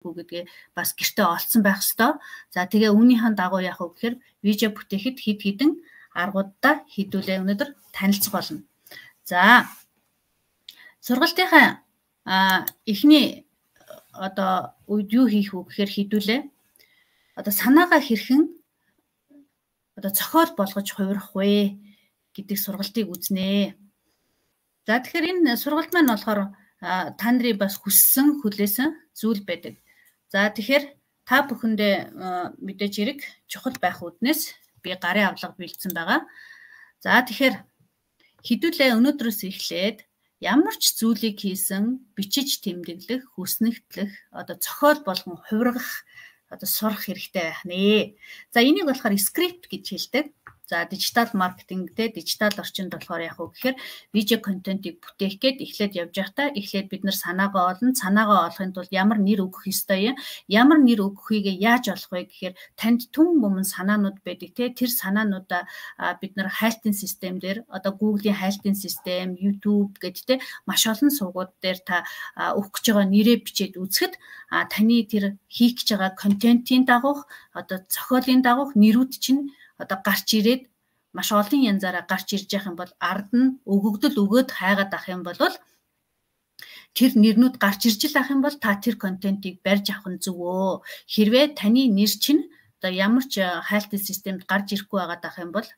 гэдгээ бас гэртээ олцсон байх ёстой. За тэгээ үүнийхэн дагуу яах вэ гэхээр видео бүтээхэд хэд хэдэн аргуудаа хийдүүлээ өнөөдөр танилцах болно. За сургалтынхаа эхний одоо үед юу хийх вэ гэхээр хийдүүлээ. Одоо санаагаа хэрхэн одоо зохиол болгож хувирах вэ гэдэг сургалтыг үзнэ. За тэгэхээр энэ сургалт маань болохоор та нарын бас хүссэн хүлээсэн зүйл байдаг. За тэгэхээр та бүхэндээ мэдээж хэрэг чухал байх үднээс би гарын авлага бэлдсэн байгаа. За тэгэхээр хэдүүлээ өнөөдрөөс эхлээд ямар ч зүйлийг хийсэн бичиж тэмдэглэх, хүснэгтлэх, одоо зохиол болгон хувиргах одоо сурах хэрэгтэй байх нэ. За энийг болохоор скрипт гэж хэлдэг. За дижитал маркетингтэй дижитал орчинд болохоор яг уу гэхээр видео контентыг бүтээх гээд эхлээд явж байхдаа эхлээд бид нар санаагаа олно. Санаагаа олохын тулд ямар нэр өгөх ёстой юм? Ямар нэр өгөхийгээ яаж олох вэ гэхээр танд түн өмнө санаанууд байдаг те. Тэр санаануудаа бид нар хайлтын систем дээр одоо Google-ийн хайлтын систем, YouTube гэдэг те маш олон сувгууд дээр та өгөх гэж байгаа нэрээ бичээд үзэхэд таны тэр хийх гэж байгаа контентын дагуух одоо зохиолын дагуух нэрүүд чинь одоо гарч ирээд маш олон янзаараа гарч ирж явах юм бол ард нь өгөгдөл өгөөд хайгаад авах юм бол тэр нэрнүүд гарч ирж л авах юм бол та тэр контентыг барьж авах нь зөвөө. Хэрвээ таны нэр чинь одоо ямар ч хайлтын системд гарч ирэхгүй байгаад авах юм бол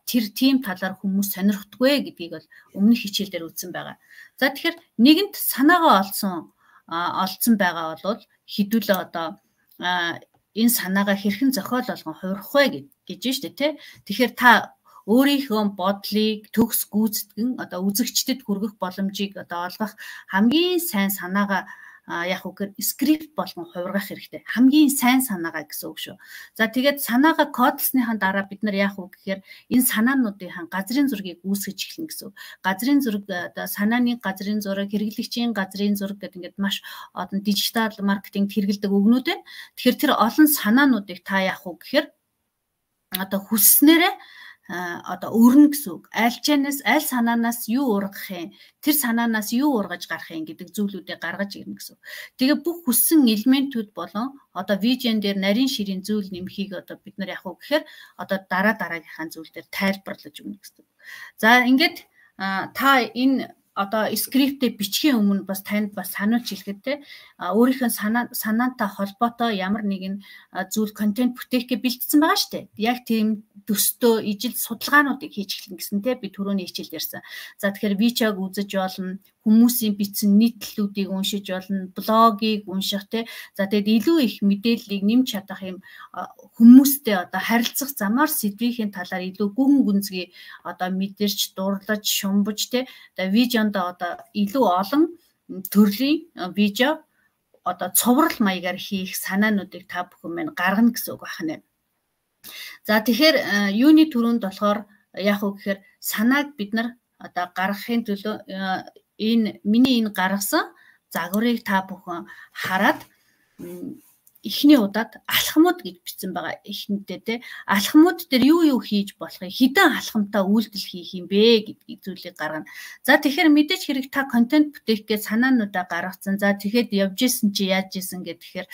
тэр тийм талаар хүмүүс сонирхдаггүй гэдгийг бол өмнөх хичээлдэр үзсэн байгаа. За тэгэхээр нэгэнт санаагаа олцсон байгаа бол хэдүүлээ одоо энэ санаагаа хэрхэн зохиол болгон хувирах вэ гэж штэ тий. Тэгэхээр та өөрийнхөө бодлыг төгс гүйцэтгэн одоо үзэгчдэд хүргэх боломжийг одоо олгох хамгийн сайн санаагаа яг үгээр скрипт болгон хувиргах хэрэгтэй. Хамгийн сайн санаагаа гэсэн үг шүү. За тэгээд санаагаа кодлсныхаа дараа бид нар яах вэ гэхээр энэ санаануудын газрын зургийг үүсгэж эхэлнэ гэсэн үг. Газрын зураг одоо санааны газрын зураг, хэрэглэгчийн газрын зураг гэдэг ингээд маш олон дижитал маркетингт хэрэгэлдэг үгнүүд байна. Тэгэхээр тэр олон санаануудыг та яах вэ гэхээр одоо хүсснээрээ одоо өрнө гэсэн үг. Аль санаанаас юу ургах юм? Тэр санаанаас юу ургаж гарах юм гэдэг зүйлүүдийг гаргаж ирнэ гэсэн үг. Тэгээ бүх хүссэн элементүүд болон одоо видеон дээр нарийн ширийн зүйл нэмхийг одоо бид нар яах вэ гэхээр одоо дараагийнхаа зүйл дээр тайлбарлаж өгнө гэсэн үг. За ингээд та энэ одоо скриптээ бичгийн өмнө бас танд бас сануулж хэлэхэд те өөрийнхөө санаантай холбоотой ямар нэгэн зүйл контент бүтээхгээ бэлдсэн байгаа шүү дээ. Яг тийм төстөө ижил судалгаануудыг хийж эхлэн гэсэн те би түрүүний хичээлд ярьсан. За тэгэхээр видеог үзэж болно, хүмүүсийн бичсэн нийтлэлүүдийг уншиж болно, блогийг унших те. За тэгээд илүү их мэдээллийг нэмж чадах юм хүмүүстэй одоо харилцах замаар сэдвийн талаар илүү гүн гүнзгий одоо мэдэрч, дурлаж, шумбаж те. Одоо видеонд одоо илүү олон төрлийн видео одоо цуврал маягаар хийх санаануудыг та бүхэн мань гаргана гэсэн үг байна. За тэгэхээр юуны төрөнд болохоор яг уу гэхээр санааг бид нар одоо гаргахын төлөө миний энэ гаргасан загварыг та бүхэн хараад эхний удаад алхмууд гэж бичсэн байгаа эхнэдээ те алхмууд дээр юу хийж болохыг хэдэн алхамтай үйлдэл хийх юм бэ гэдгийг зүйлийг гаргана. За тэгэхээр мэдээж хэрэг та контент бүтээх гэж санаануудаа гаргацсан. За тэгэхэд явж исэн чи яаж исэн гэхээр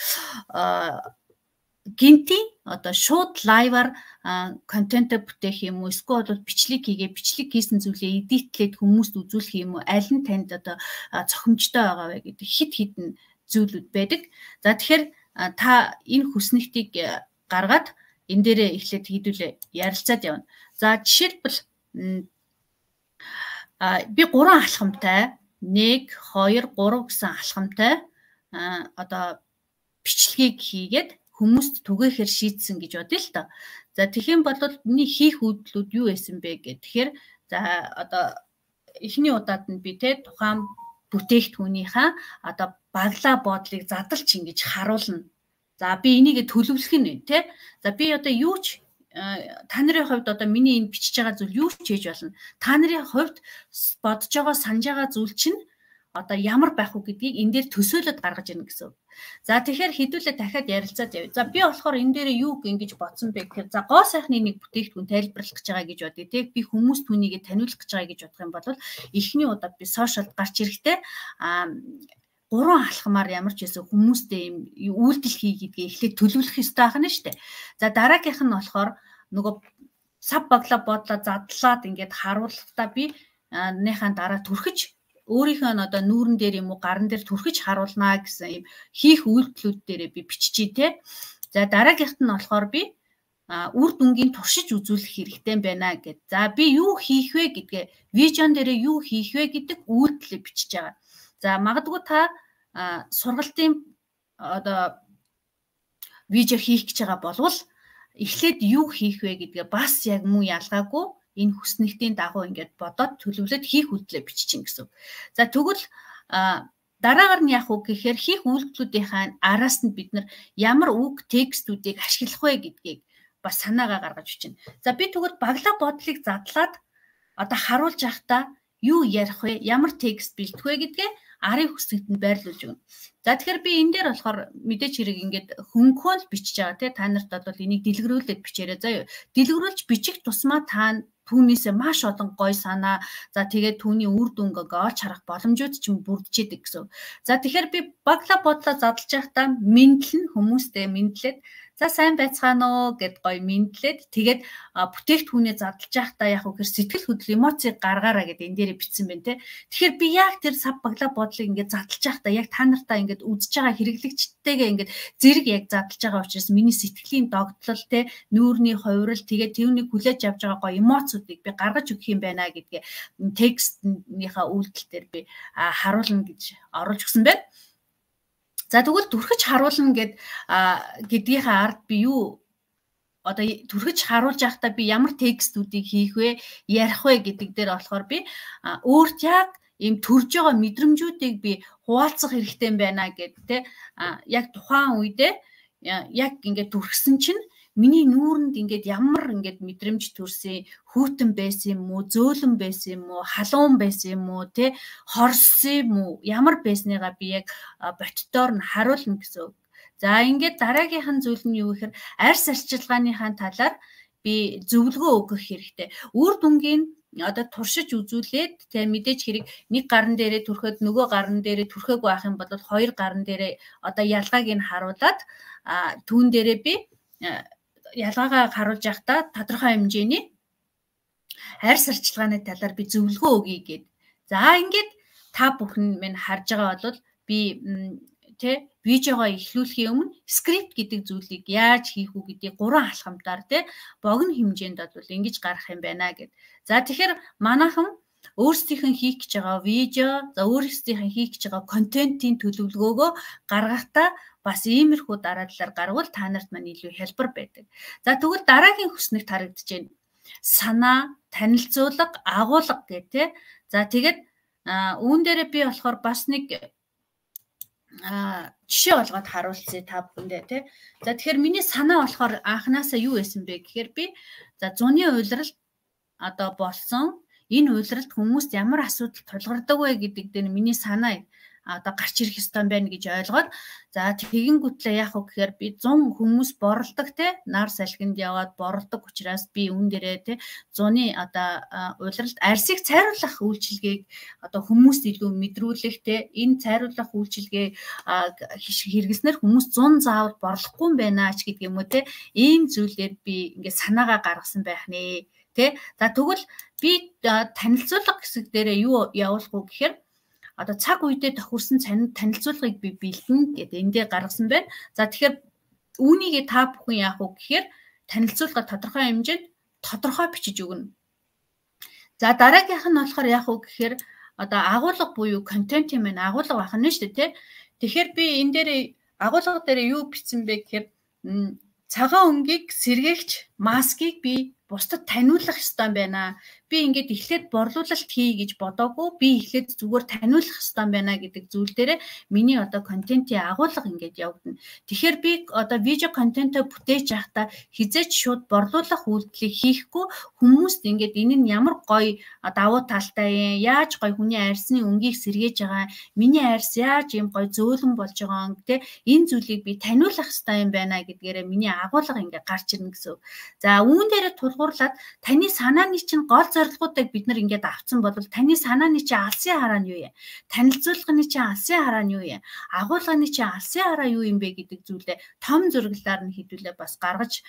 гинти одоо шууд лайваар контент бүтээх юм уу эсвэл бол бичлэг хийсэн зүйлээ эдитлээд хүмүүст үзүүлэх юм уу аль нь танд одоо цохимжтой байгаа вэ гэдэг хид хідэн зүйлүүд байдаг. За тэгэхээр та энэ хүснэгтийг гаргаад энэ дээрээ эхлээд хийдүүлээ ярилцаад явна. За жишээлбэл би 3 алхамтай 1 2 3 гэсэн алхамтай одоо бичлэгийг хийгээд хүмүүст түгээхээр шийдсэн гэж бодъё л доо. За тэгхийн бол миний хийх үйлдэлүүд юу байсан бэ гэх. Тэгэхээр за одоо эхний удаад нь би те тухайн бүтээгдэхүүнийхээ одоо баглаа бодлыг задлж ингэж харуулна. За би энийг төлөвлөх нь те. За би одоо юу ч та нарын хувьд одоо миний энэ бичиж байгаа зүйл юу ч хийж болно. Та нарын хувьд бодож байгаа санаж байгаа зүйл чинь одоо ямар байх вэ гэдгийг энэ дээр төсөөлөд гаргаж ирнэ гэсэн. За тэгэхээр хэдүүлээ дахиад ярилцаад явъя. За би болохоор энэ дээр юу ингэж бодсон бэ гэхээр за гоо сайхны нэг бүтээгдэхүүн тайлбарлах гэж байгаа гэж бодъё. Тэг би хүмүүс түүнийг таниулах гэж байгаа гэж бодох юм бол эхний удаад би сошиалд гарч ирэхдээ 3 алхмаар ямар ч байсан хүмүүстэй юм үйлдэл хий гэдгээ эхлээд төлөвлөх ёстой байна шүү дээ. За дараагийнх нь болохоор нөгөө сав багла бодлоо задлаад ингээд харуулахдаа би нээхэн дараа түрхэж өөрийнхөө одоо нүүрэн дээр юм уу гарын дээр түрхэж харуулнаа гэсэн юм хийх үйлдэлүүд дээрээ би биччихье те. За дараагийнх нь болохоор би үр дүнгийн туршиж үзүүлэх хэрэгтэй байна гэд. За би юу хийх вэ гэдгээ вижн дээрээ юу хийх вэ гэдэг үйлдэлээ бичиж байгаа. За магадгүй та сургалтын одоо видео хийх гэж байгаа болвол эхлээд юу хийх вэ гэдгээ бас яг муу ялгаагүй энэ хүснэгтийн дагуу ингээд бодоод төлөвлөд хийх үйлдэлээ биччихин гэсэн. За тэгвэл дараагаар нь яах вэ гэхээр хийх үйлдэлүүдийн араас нь бид нар ямар үг текстүүдийг ашиглах вэ гэдгийг бас санаагаа гаргаж бичнэ. За би тэгвэл баглаа бодлыг задлаад одоо харуулж явахдаа юу ярих вэ? Ямар текст бэлдэх вэ гэдгээ арын хүсэгт нь байрлуулж өгнө. За тэгэхээр би энэ дээр болохоор мэдээж хэрэг ингээд хөнгөөл бичиж байгаа тий та нарт бол энийг дэлгэрүүлээд бичээрэй заяа. Дэлгэрүүлж бичих тусмаа та түүнээсээ маш олон гой санаа за тэгээд түүний үр дүнгээ олж харах боломжууд ч юм бүрдчихэд гэсэн. За тэгэхээр би баглаа бодлоо задлж байхдаа мэдлэн хүмүүстэй мэдлээд за сайн байцгаана уу гэд гоё мэдлээд тэгээд бүтээгдэхүүнээ задлж байхдаа яг үгээр сэтгэл хөдлөл эмоцийг гаргаараа гэд энэ дээр бичсэн байна те. Тэгэхээр би яг тэр сав баглаа бодлыг ингээд задлж байхдаа яг та нартаа ингээд үзэж байгаа хэрэглэгчтэйгээ ингээд зэрэг яг задлж байгаа учраас миний сэтгэлийн догтлол те нүүрний хувирал тэгээд тэрнийг хүлээж авч байгаа гоё эмоцуудыг би гаргаж өгөх юм байна гэдгээ текстнийхаа үйлдэл дээр би харуулна гэж оруулж өгсөн байна. За тэгвэл түрхэж харуулна гэдгийнхээ ард би юу одоо түрхэж харуулж байхдаа би ямар текстүүдийг хийх вэ, ярих вэ гэдэг дээр болохоор би өөрт яг ийм төрж байгаа мэдрэмжүүдийг би хуваалцах хэрэгтэй байна гэдэг те яг тухайн үедээ яг ингээд түрхсэн чинь миний нүүрэнд ингээд ямар ингээд мэдрэмж төрсөн, хүүтэн байсан юм уу, зөөлөн байсан юм уу, халуун байсан юм уу, те хорсон юм уу, ямар байсныгаа би яг ботдоор нь харуулна гэсэн. За ингээд дараагийнх нь зүйл нь юу гэхээр арьс арчилгааныхаа талаар би зөвлөгөө өгөх хэрэгтэй. Үр дүнгийн одоо туршиж үзүүлээд тэгээ мэдээж хэрэг нэг гарн дээрээ түрхээд нөгөө гарн дээрээ түрхээгүй байх юм бол хоёр гарн дээрээ одоо ялгааг нь харуулад түүн дээрээ би ялгаагаа харуулж явахдаа тодорхой хэмжээний арьс арчилгааны талаар би зөвлөгөө өгье гэд. За ингээд та бүхэн минь харж байгаа бол би тэ видеогоо эхлүүлэхийн өмнө скрипт гэдэг зүйлийг яаж хийх үү гэдгийг 3 алхамтаар тэ богино хэмжээнд бол ингэж гарах юм байна гэд. За тэгэхээр манайхан өөрсдийнх нь хийх гэж байгаа видео, за өөрсдийнх нь хийх гэж байгаа контентын төлөвлөгөөгөө гаргахдаа бас иймэрхүү дараадлаар гарвал та нарт маань илүү хялбар байдаг. За тэгвэл дараагийн хүснэгт харагдаж байна. Санаа, танилцуулга, агуулга гэх тэ. За тэгээд үүн дээрээ би болохоор бас нэг жишээ олгоод харуулцъя та бүхэндээ тэ. За тэгэхээр миний санаа болохоор анханасаа юу байсан бэ гэхээр би за зуны уйлралт одоо болсон энэ уйлралд хүмүүст ямар асуудал тулгардаг вэ гэдэг дээр миний санаа одоо гарч ирэх ёстой байна гэж ойлгоод за тэгэнгүүтлээ яах вэ гэхээр би 100 хүмүүс борлдог те нар салхинд яваад борлдог учраас би үүн дээрээ те 100-ны одоо уйлралд арьсыг цайруулах үйлчилгээг одоо хүмүүст илүү мэдрүүлэх те энэ цайруулах үйлчилгээ хэрэглэснээр хүмүүс 100 заавал борлохгүй юм байна ч гэдэг юм уу те ийм зүйлээр би ингээд санаагаа гаргасан байх нэ те. За тэгвэл би танилцуулга хэсэг дээрээ юу явуулах вэ гэхээр одоо цаг үедээ тохирсон танилцуулгыг би бэлдэнэ гэдэг эндээ гаргасан байна. За тэгэхээр үүнийг та бүхэн яах вэ гэхээр танилцуулга тодорхой хэмжээнд тодорхой бичиж өгнө. За дараагийнх нь болохоор яах вэ гэхээр одоо агуулга буюу контентын маань агуулга байх нь шүү дээ тий. Тэгэхээр би энэ дээр агуулга дээр юу бичсэн бэ гэхээр цагаан өнгийг сэргээгч маскыг би бусдад таниулах ёстой байна. Би ингээд эхлээд борлуулалт хий гэж бодоогүй. Би эхлээд зүгээр таниулах ёстой байна гэдэг зүйл дээр миний одоо контентын агуулга ингээд явагдана. Тэгэхээр би одоо видео контентоо бүтээж явахдаа хизээч шууд борлуулах үйлдэлийг хийхгүй хүмүүст ингээд энэ нь ямар гоё давуу талтай юм, яаж гоё хүний арьсны өнгийг сэргээж байгаа, миний арьс яаж юм гоё зөөлөн болж байгаа юм те энэ зүйлийг би таниулах ёстой юм байна гэдгээрээ миний агуулга ингээд гарч ирнэ гэсэн. За үүн дээр тулгуурлаад таны санааны чинь гол зорилгоодыг бид нар ингээд авцсан бол таны санааны чи алсын хараа нь юу юм? Танилцуулгын чи алсын хараа нь юу юм? Агуулгын чи алсын хараа юу юм бэ гэдэг зүйлээ том зураглалаар нь хэдүүлээ бас гаргаж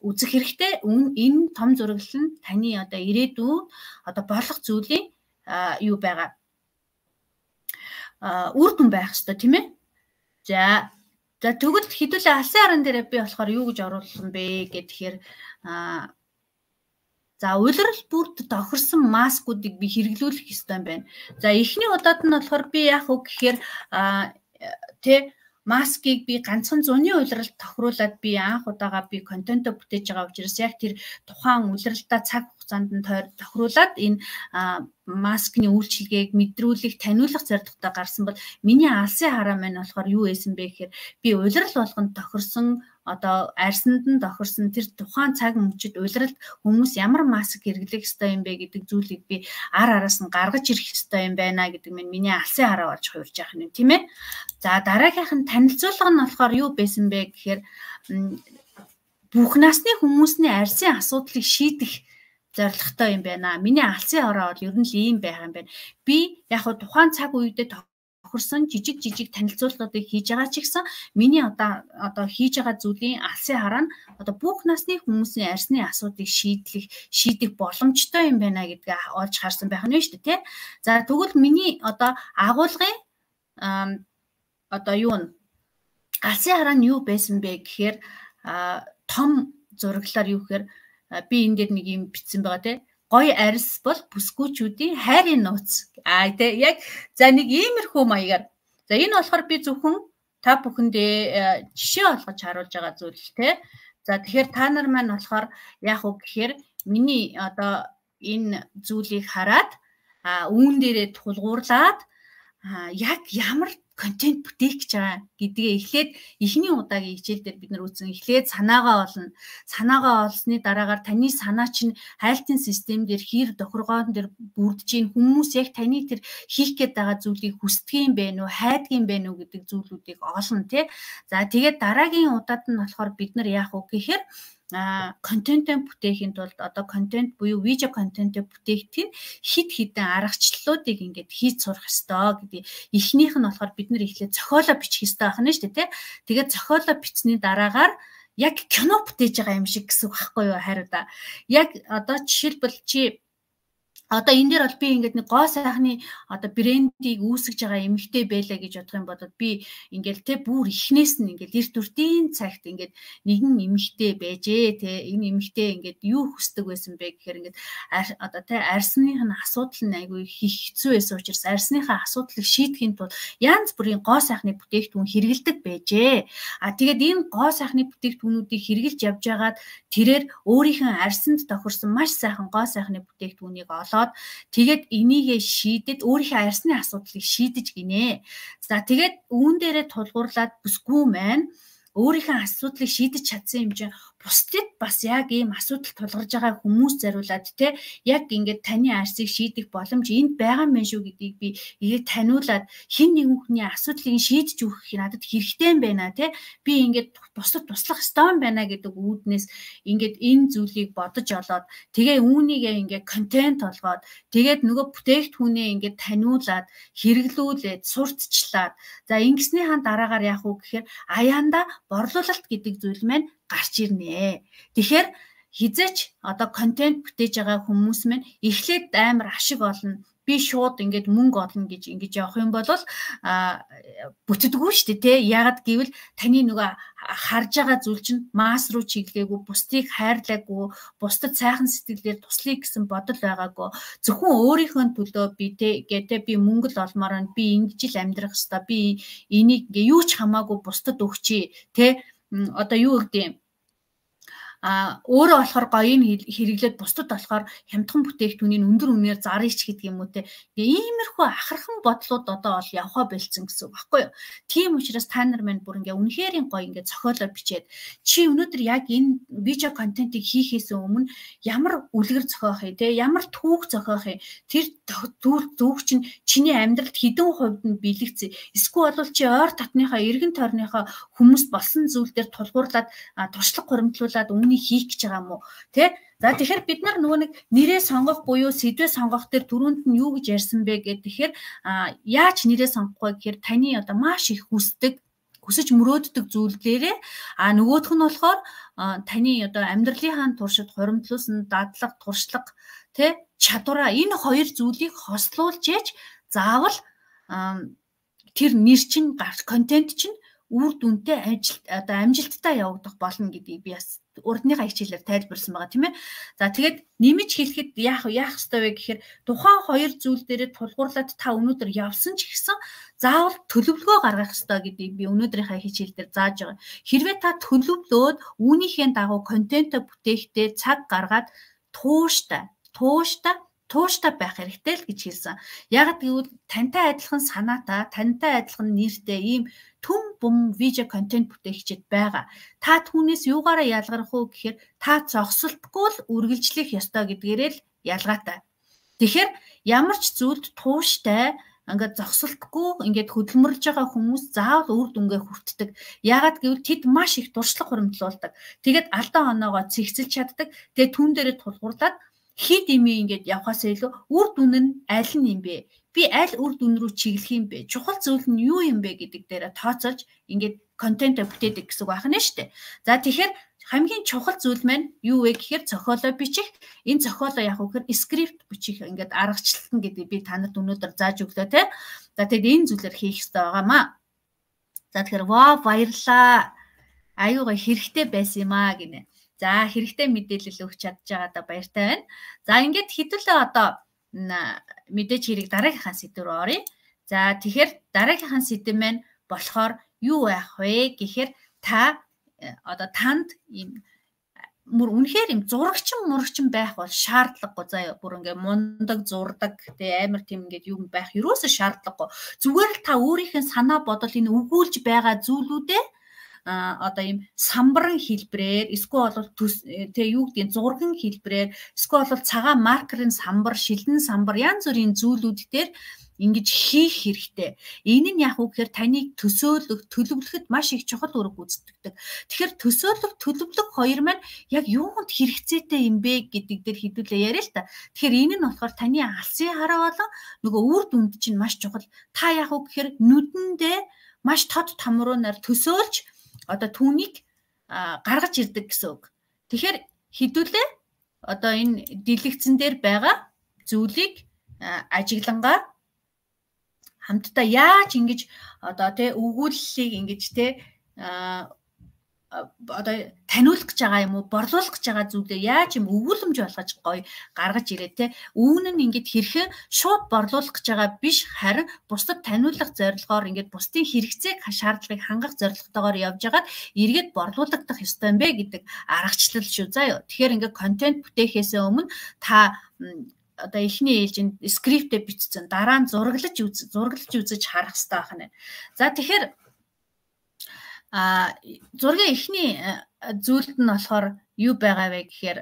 үзэх хэрэгтэй. Энэ том зураглал нь таны одоо ирээдүйн одоо болох зүйлийн юу байгаа үр дүн байх ёстой тийм ээ. За тэгвэл хэдүүлээ алсын харан дээр би болохоор юу гэж оруулсан бэ гэхээр за улирал бүрд тохирсон маскуудыг би хэрэглүүлэх ёстой юм байна. За эхний удаад нь болохоор би яах вэ гэхээр маскыг би ганцхан зуны улиралд тохируулаад би анх удаага би контентоо бүтээж байгаа учраас яг тэр тухайн улиралдаа цаг хугацаанд нь тохируулаад энэ маскны үйлчилгээг мэдрүүлэх, таниулах зорилготой гарсан бол миний алсын хараа маань болохоор юу байсан бэ гэхээр би улирал болгонд тохирсон одоо арьсанд нь тохирсон тэр тухайн цаг мөчид улиралд хүмүүс ямар маск хэрэглэх ёстой юм бэ гэдэг зүйлийг би араас нь гаргаж ирэх ёстой юм байна гэдэг миний алсын хараа болж хувирж явах юм тийм ээ. За дараагийнх нь танилцуулга нь болохоор юу байсан бэ гэхээр бүх насны хүмүүсний арьсын асуудлыг шийдэх зорилготой юм байна. Миний алсын хараа бол ер нь л ийм байх юм байна. Би яг хөө тухайн цаг үедээ тохирсон жижиг танилцуулгуудыг хийж байгаа ч гэсэн миний одоо хийж байгаа зүйлийн алсын хараа нь одоо бүх насны хүмүүсийн арьсны асуудыг шийдэх боломжтой юм байна гэдгийг олж харсан байх нь шүү дээ, тий. За тэгвэл миний одоо агуулгын одоо юу нь алсын хараа нь юу байсан бэ гэхээр том зураглалаар юу гэхээр би энэ дээр нэг юм бичсэн байгаа тий. Гоё арьс бол бүсгүүчүүдийн хайрын нууц. Тий яг за нэг иймэрхүү маягаар. За энэ болохоор би зөвхөн та бүхэндээ жишээ олгож харуулж байгаа зүйл тий. За тэгэхээр та нар маань болохоор яах вэ гэхээр миний одоо энэ зүйлийг хараад үүн дээрээ тулгуурлаад яг ямар контент бүтээх гэж байгаа гэдгээ эхлээд эхний удаагийн хичээл дээр бид нар үзсэн. Эхлээд санаагаа олно. Санаагаа олсны дараагаар таны санаа чинь хайлтын систем дээр хэр тохиргоон дээр бүрдэж ийн хүмүүс яг таны тэр хийх гээд байгаа зүйлийг хүсдэг юм бэ нү, хайдаг юм бэ нү гэдэг зүйлүүдийг олно тий. За тэгээд дараагийн удаад нь болохоор бид нар яах вэ гэхээр контентээ бүтээхийн тулд одоо контент буюу видео контентээ бүтээхэд хид хідэн аргачлалуудыг ингээд хийж сурах ёстой гэдэг. Эхнийх нь болохоор бид нар эхлээд зохиолоо бичих ёстой байх нь шүү дээ тий. Тэгээд зохиолоо бичсний дараагаар яг кино бүтээж байгаа юм шиг гэсэн үг байхгүй юу хариу да. Яг одоо жишээлбэл чи одоо энэ дээр бол би ингээд нэг гоо сайхны одоо брендийг үүсгэж байгаа эмэгтэй байлаа гэж бодох юм бол би ингээд те бүр ихнээс нь ингээд эрт үртийн цагт ингээд нэгэн эмэгтэй байжээ те энэ эмэгтэй ингээд юу хүсдэг байсан бэ гэхээр ингээд одоо те арьсных нь асуудал нь айгүй хэцүү байсан учраас арьсныхаа асуудлыг шийдэхин тулд янз бүрийн гоо сайхны бүтээгдэхүүн хэрэгэлдэг байжээ. Тэгээд энэ гоо сайхны бүтээгдэхүүнүүдийг хэрэгжилж явж байгаад тэрээр өөрийнхөө арьсанд тохирсон маш сайхан гоо сайхны бүтээгдэхүүнийг тэгээд энийгээ шийдэд өөрийнхөө арьсны асуудлыг шийдэж гинэ. За тэгээд үүн дээрээ тулгуурлаад бүсгүй маань өөрийнхөө асуудлыг шийдэж чадсан юм чинь бусдад бас яг ийм асуудал тулгарж байгаа хүмүүс зориулаад те яг ингээд таны арьсыг шийдэх боломж энд байгаа юм шүү гэдгийг би ирээд таниулаад хин нэгэн хүний асуудлыг шийдэж өгөх надад хэрэгтэй юм байна те би ингээд бусдад туслах ёстой юм байна гэдэг үүднээс ингээд энэ зүйлийг бодож олоод тэгээ үүнийгээ ингээд контент олгоод тэгээд нөгөө бүтээгдэхүүнээ ингээд таниулаад хэрэглүүлээд сурталчлаад за ингэснийхаа дараагаар яах вэ гэхээр аяанда борлуулалт гэдэг зүйл маань гарч ирнэ. Тэгэхээр хизээч одоо контент бүтээж байгаа хүмүүс маань эхлээд амар ашиг олно. Би шууд ингээд мөнгө олно гэж ингэж явах юм бол бүтдэггүй шүү дээ, тий. Ягаад гэвэл таны нөгөө харж байгаа зүйл чинь масс руу чиглээгүй, бусдыг хайрлаагүй, бусдад сайхан сэтгэлээр туслая гэсэн бодол байгаагүй. Зөвхөн өөрийнхөө төлөө би гэдэг би мөнгө л олмоор нь би ингэж л амьдрах хэвээр би энийг ингээ юу ч хамаагүй бусдад өгчий, тий. Одоо юу гэдэг юм өөрөө болохоор гоён хэрэглээд бусдад болохоор хямдхан бүтээгдэхүүнийг өндөр үнээр зарыг ч гэдэг юм уу те. Иймэрхүү ахархан бодлууд одоо бол явхаа болцсон гэсэн үг байхгүй юу. Тийм учраас та нар маань бүр ингээ үнэхээр гоё ингээ зохиолоо бичээд чи өнөөдөр яг энэ видео контентыг хийхээс өмнө ямар үлгэр зохиох юм те, ямар түүх зохиох юм. Тэр түүх чинь чиний амьдралд хэдэн хувьд нь бэлэгцээ. Эсвэл бол чи ойр татныхаа эргэн тойрныхаа хүмүүс болсон зүйл дээр тулгуурлаад туршлага хуримтлуулаад хийх гэж байгаа юм уу те. За тэгэхээр бид нар нөгөө нэг нэрээ сонгох буюу сэдвээ сонгох дээр түрүүнд нь юу гэж ярьсан бэ гэхээр яаж нэрээ сонгох вэ гэхээр таны одоо маш их хүсэж мөрөөддөг зүйлээрээ нөгөөх нь болохоор таны одоо амьдралынхаа туршид хуримтлуулсан дадлага, туршлага, тэ чадвараа энэ хоёр зүйлийг хослуулж яж заавал тэр нэр чинь контент чинь үр дүнтэй амжилттай явагдах болно гэдгийг би бас урдныхаа хичээлээр тайлбарласан байгаа тийм ээ. За тэгээд нэмж хэлэхэд яах ёстой вэ гэхээр тухайн хоёр зүйл дээрээ тулгуурлаад та өнөөдөр явсан ч гэсэн заавал төлөвлөгөө гаргах ёстой гэдгийг би өнөөдрийнхээ хичээлээр зааж байгаа. Хэрвээ та төлөвлөөд үүнийхээ дагуу контент бүтээхдээ цаг гаргаад тууштай байх хэрэгтэй л гэж хэлсэн. Яг гэвэл тантай адилхан санаатай, тантай адилхан нэртэй ийм түн бум видео контент бүтээгчид байгаа. Та түүнээс юугаараа ялгарх уу гэхээр та зогсолтгүй л үргэлжлэх ёстой гэдгээрээ л ялгаатай. Тэгэхээр ямар ч зүйлд тууштай ингээд зогсолтгүй ингээд хөдөлмөрлж байгаа хүмүүс заавал үр дүнгээ хүртдэг. Яагаад гэвэл тэд маш их туршлага хуримтлуулдаг. Тэгээд алдаа оноогоо цэгцэлж чаддаг. Тэгээд түн дээрээ тулгуурлаад хит имээ ингээд явахаас илүү үр дүн нь аль нь юм бэ? Би аль үр дүн рүү чиглэх юм бэ? Чухал зүйл нь юу юм бэ гэдэг дээр тооцоолж ингээд контент бүтээдэг гэсэн үг байна шүү дээ. За тэгэхээр хамгийн чухал зүйл маань юу вэ гэхээр зохиолоо бичих. Энэ зохиолоо яг үгээр скрипт бичих ингээд аргачлалтан гэдэг би танад өнөөдөр зааж өглөө те. За тэгээд энэ зүйлээр хийх хэрэгтэй байгаамаа. За тэгэхээр баярлаа. Аюугаа хэрэгтэй байсан юм аа гинэ. За хэрэгтэй мэдээлэл өгч чадж байгаадаа баяртай байна. За ингээд хэдүүлээ одоо мэдээж хэрэг дараагийнхаа сэдв рүү оръё. За тэгэхээр дараагийнхаа сэдв маань болохоор юу байх вэ гэхээр та одоо танд ийм үнэхээр ийм зурагчин байх бол шаардлагагүй заяа бүр ингээ мундаг зурдаг тэгээ амар тийм ингээд юм байх юусоо шаардлагагүй. Зүгээр л та өөрийнхөө санаа бодол энэ өгүүлж байгаа зүйлүүдээ одоо ийм самбаран хэлбрээр эсвэл бол тэг юу гэдгийг зурган хэлбрээр эсвэл бол цагаан маркерын самбар, шилэн самбар янз бүрийн зүйлүүд дээр ингэж хийх хэрэгтэй. Энэ нь яг үг гэхээр таныг төлөвлөхөд маш их чухал үүрэг гүйцэтгэдэг. Тэгэхээр төлөвлөх хоёр маань яг юунд хэрэгцээтэй юм бэ гэдэг дээр хэдүүлээ яриа л та. Тэгэхээр энэ нь болохоор таны алсын хараа болон нөгөө үр дүнд чинь маш чухал. Та яг үг гэхээр нүдэндээ маш тод тамруунаар төсөөлж одоо түүнийг гаргаж ирдэг гэсэн үг. Тэгэхээр хэдүүлээ одоо энэ дэлгэцэн дээр байгаа зүйлийг ажиглангаа хамтдаа яаж ингэж одоо тэ өгүүллийг ингэж тэ одоо таниулах гэж байгаа юм уу, борлуулах гэж байгаа зүйлээ яаж юм өгүүлэмж болгож гоё гаргаж ирээ те. Үүн нь ингэж хэрхэн шууд борлуулах гэж байгаа биш, харин бусдад таниулах зорилгоор ингэж бусдын хэрэгцээг шаардлагыг хангах зорилготойгоор явж байгаад эргээд борлуулагдах ёстой юм бэ гэдэг аргачлал шүү заа юу. Тэгэхээр ингэ контент бүтээхээс өмнө та одоо эхний ээлжинд скриптээ бичсэн, дараа нь зураглаж үзэж харах хэрэгтэй байна. За тэгэхээр зургийн эхний зүйлд нь болохоор юу байгаа вэ гэхээр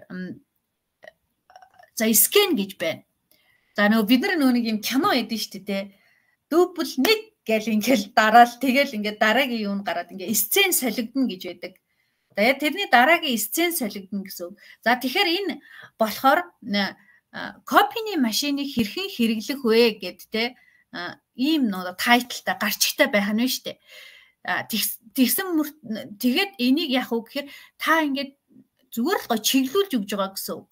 за скэн гэж байна. За нөгөө бид нар нэг юм кино эдэн шүү дээ. Дубль 1 гэл ингээл дараал тэгэл ингээд дараагийн юм гараад ингээд сцен солигдно гэж байдаг. Тэгээд тэрний дараагийн сцен солигдно гэсэн. За тэгэхээр энэ болохоор копины машиныг хэрхэн хэрэглэх вэ гэд те ийм нөө тайтлтай гарчигтай байх нь шүү дээ. Тэгээд энийг яах вэ гэхээр та ингээд зүгээр л гоо чиглүүлж өгж байгаа гэсэн үг.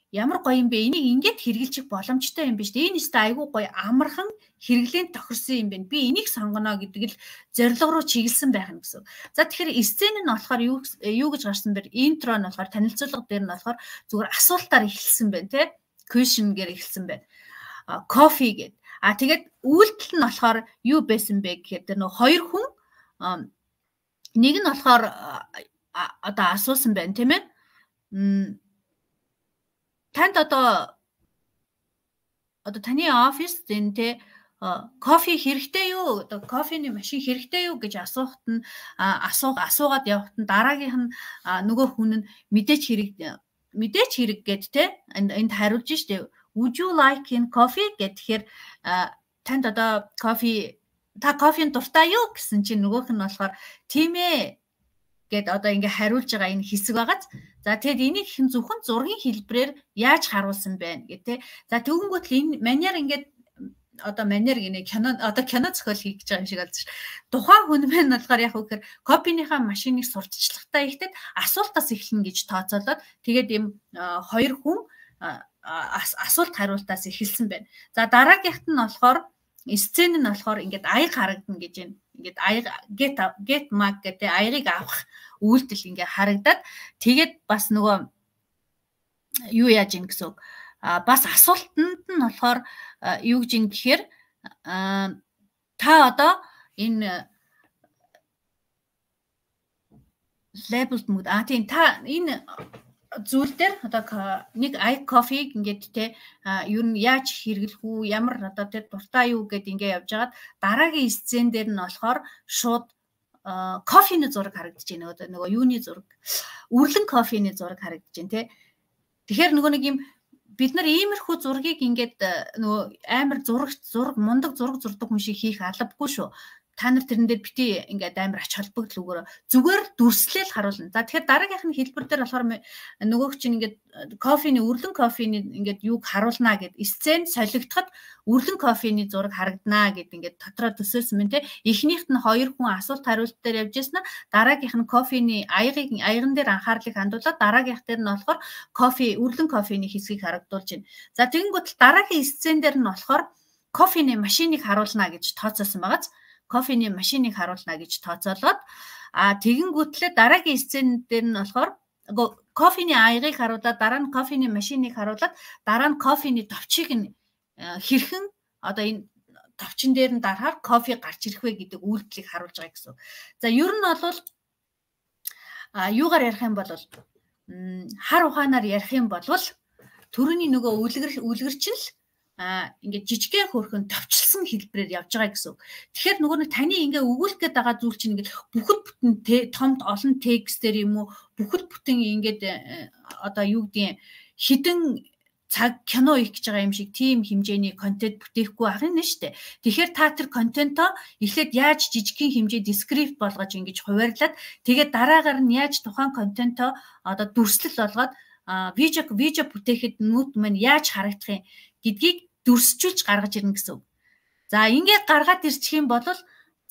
Ямар гоё юм бэ? Энийг ингээд хэрэгжилчих боломжтой юм биш үү? Энэ өстой айгүй гоё амархан хэрэглээнд тохирсон юм байна. Би энийг сонгоно гэдэг л зорилго руу чиглэсэн байх нь гэсэн. За тэгэхээр сцен нь болохоор юу гэж гарсан бэ? Интро нь болохоор танилцуулга дээр нь болохоор зүгээр асуултаар эхэлсэн байна, тий? Question гээр эхэлсэн байна. Coffee гэд. Тэгээд үйлдэл нь болохоор юу байсан бэ гэхээр тэр нөө хоёр хүн нэг нь болохоор одоо асуусан байна, тийм ээ? Танд одоо таны оффист энэ те кофе хэрэгтэй юу? Одоо кофений машин хэрэгтэй юу гэж асуухад нь асуугаад явахад нь дараагийнх нь нөгөө хүн нь мэдээч хэрэг гэд те энд хариулж штэ. Would you like in coffee гэхээр танд одоо кофений дуртай юу гэсэн чинь нөгөөх нь болохоор тийм ээ гэд одоо ингээ хариулж байгаа энэ хэсэг байгааз. За тэгэд энийг хэн зөвхөн зургийн хэлбэрээр яаж харуулсан байна гэх тэ. За тэгвэл энэ манер ингээд одоо манер гинэ кино зохиол хийх гэж байгаа юм шиг болж ш. Тухайн хүн маань болохоор яг үхээр копийнхаа машиныг сурталчлагатай ихтэд асуултаас эхэлнэ гэж тооцоолоод тэгээд ийм хоёр хүн асуулт хариултаас эхэлсэн байна. За дараагийнх нь болохоор сцен нь болохоор ингээд аяг харагдана гэж байна. Ингээд аяг get mag гэдэг аягыг авах үйлдэл ингээд харагдаад тэгээд бас нөгөө юу яаж ийн гэсэн үг. Бас асуултанд нь болохоор юу гэж ийн гэхээр та одоо энэ labeled mood тийм та энэ зүйл дээр одоо нэг ай кофег ингээд те юу нь яаж хэрэглэх үү ямар одоо тэр дуртай юу гэд ингээд явж хагаад дараагийн сцен дээр нь болохоор шууд кофений зураг харагдаж байна. Одоо нөгөө юуны зураг үрлэн кофений зураг харагдаж байна те. Тэгэхээр нөгөө нэг юм бид нар иймэрхүү зургийг ингээд нөгөө амар зураг мундаг зураг зурдаг хүн шиг хийх албагүй шүү. Та нар тэрэн дээр бити ингээд амар ач холбогдол өгөөрэй. Зүгээр дүрслэл харуулна. За тэгэхээр дараагийнх нь хэлбэр дээр болохоор нөгөөх чинь ингээд кофений үрлэн кофений ингээд юуг харуулнаа гэд сцен солигдоход үрлэн кофений зураг харагданаа гэд ингээд дотроо төсөөлсөн мэн те. Эхнийхт нь хоёр хүн асуулт хариулт дээр явж яснаа дараагийнх нь кофений аяган дээр анхаарлыг хандуулаад дараагийнх дээр нь болохоор үрлэн кофений хэсгийг харагдуулж байна. За тэгэнгүүт дараагийн сцен дээр нь болохоор кофений машиныг харуулнаа гэж тооцоосон байгааз кофений машиныг харуулна гэж тооцоолоод тэгэнгүүтлээ дараагийн сцен дээр нь болохоор кофений аягыг харуулаад дараа нь кофений машиныг харуулаад дараа нь кофений товчийг нь хэрхэн одоо энэ товчин дээр нь дарахаар кофе гарч ирэх вэ гэдэг үйлдэлийг харуулж байгаа гэсэн. За ер нь бол юугаар ярих юм бол хар ухаанаар ярих юм бол төрөний нөгөө үлгэрч л ингээд жижигхэн хөрхөн товчлсон хэлбэрээр явж байгаа гэсэн. Тэгэхээр нөгөө нэг таны ингээ өгүүлэх гээд байгаа зүйл чинь ингээд бүхэл бүтэн томд олон текстээр юм уу бүхэл бүтэн ингээд одоо юу гэдгийг хідэн цаг кино их гэж байгаа юм шиг тийм хэмжээний контент бүтээхгүй ах юм шүү дээ. Тэгэхээр та тэр контентоо эхлээд яаж жижигхэн хэмжээ дескрипт болгож ингэж хуваарлаад тэгээд дараагаар нь яаж тухайн контентоо одоо дүрслэл болгоод видео бүтээхэд нүд маань яаж харагдах юм гэдгийг дүрсчүүлж гаргаж ирнэ гэсэн үг. За ингээд гаргаад ирчих юм бол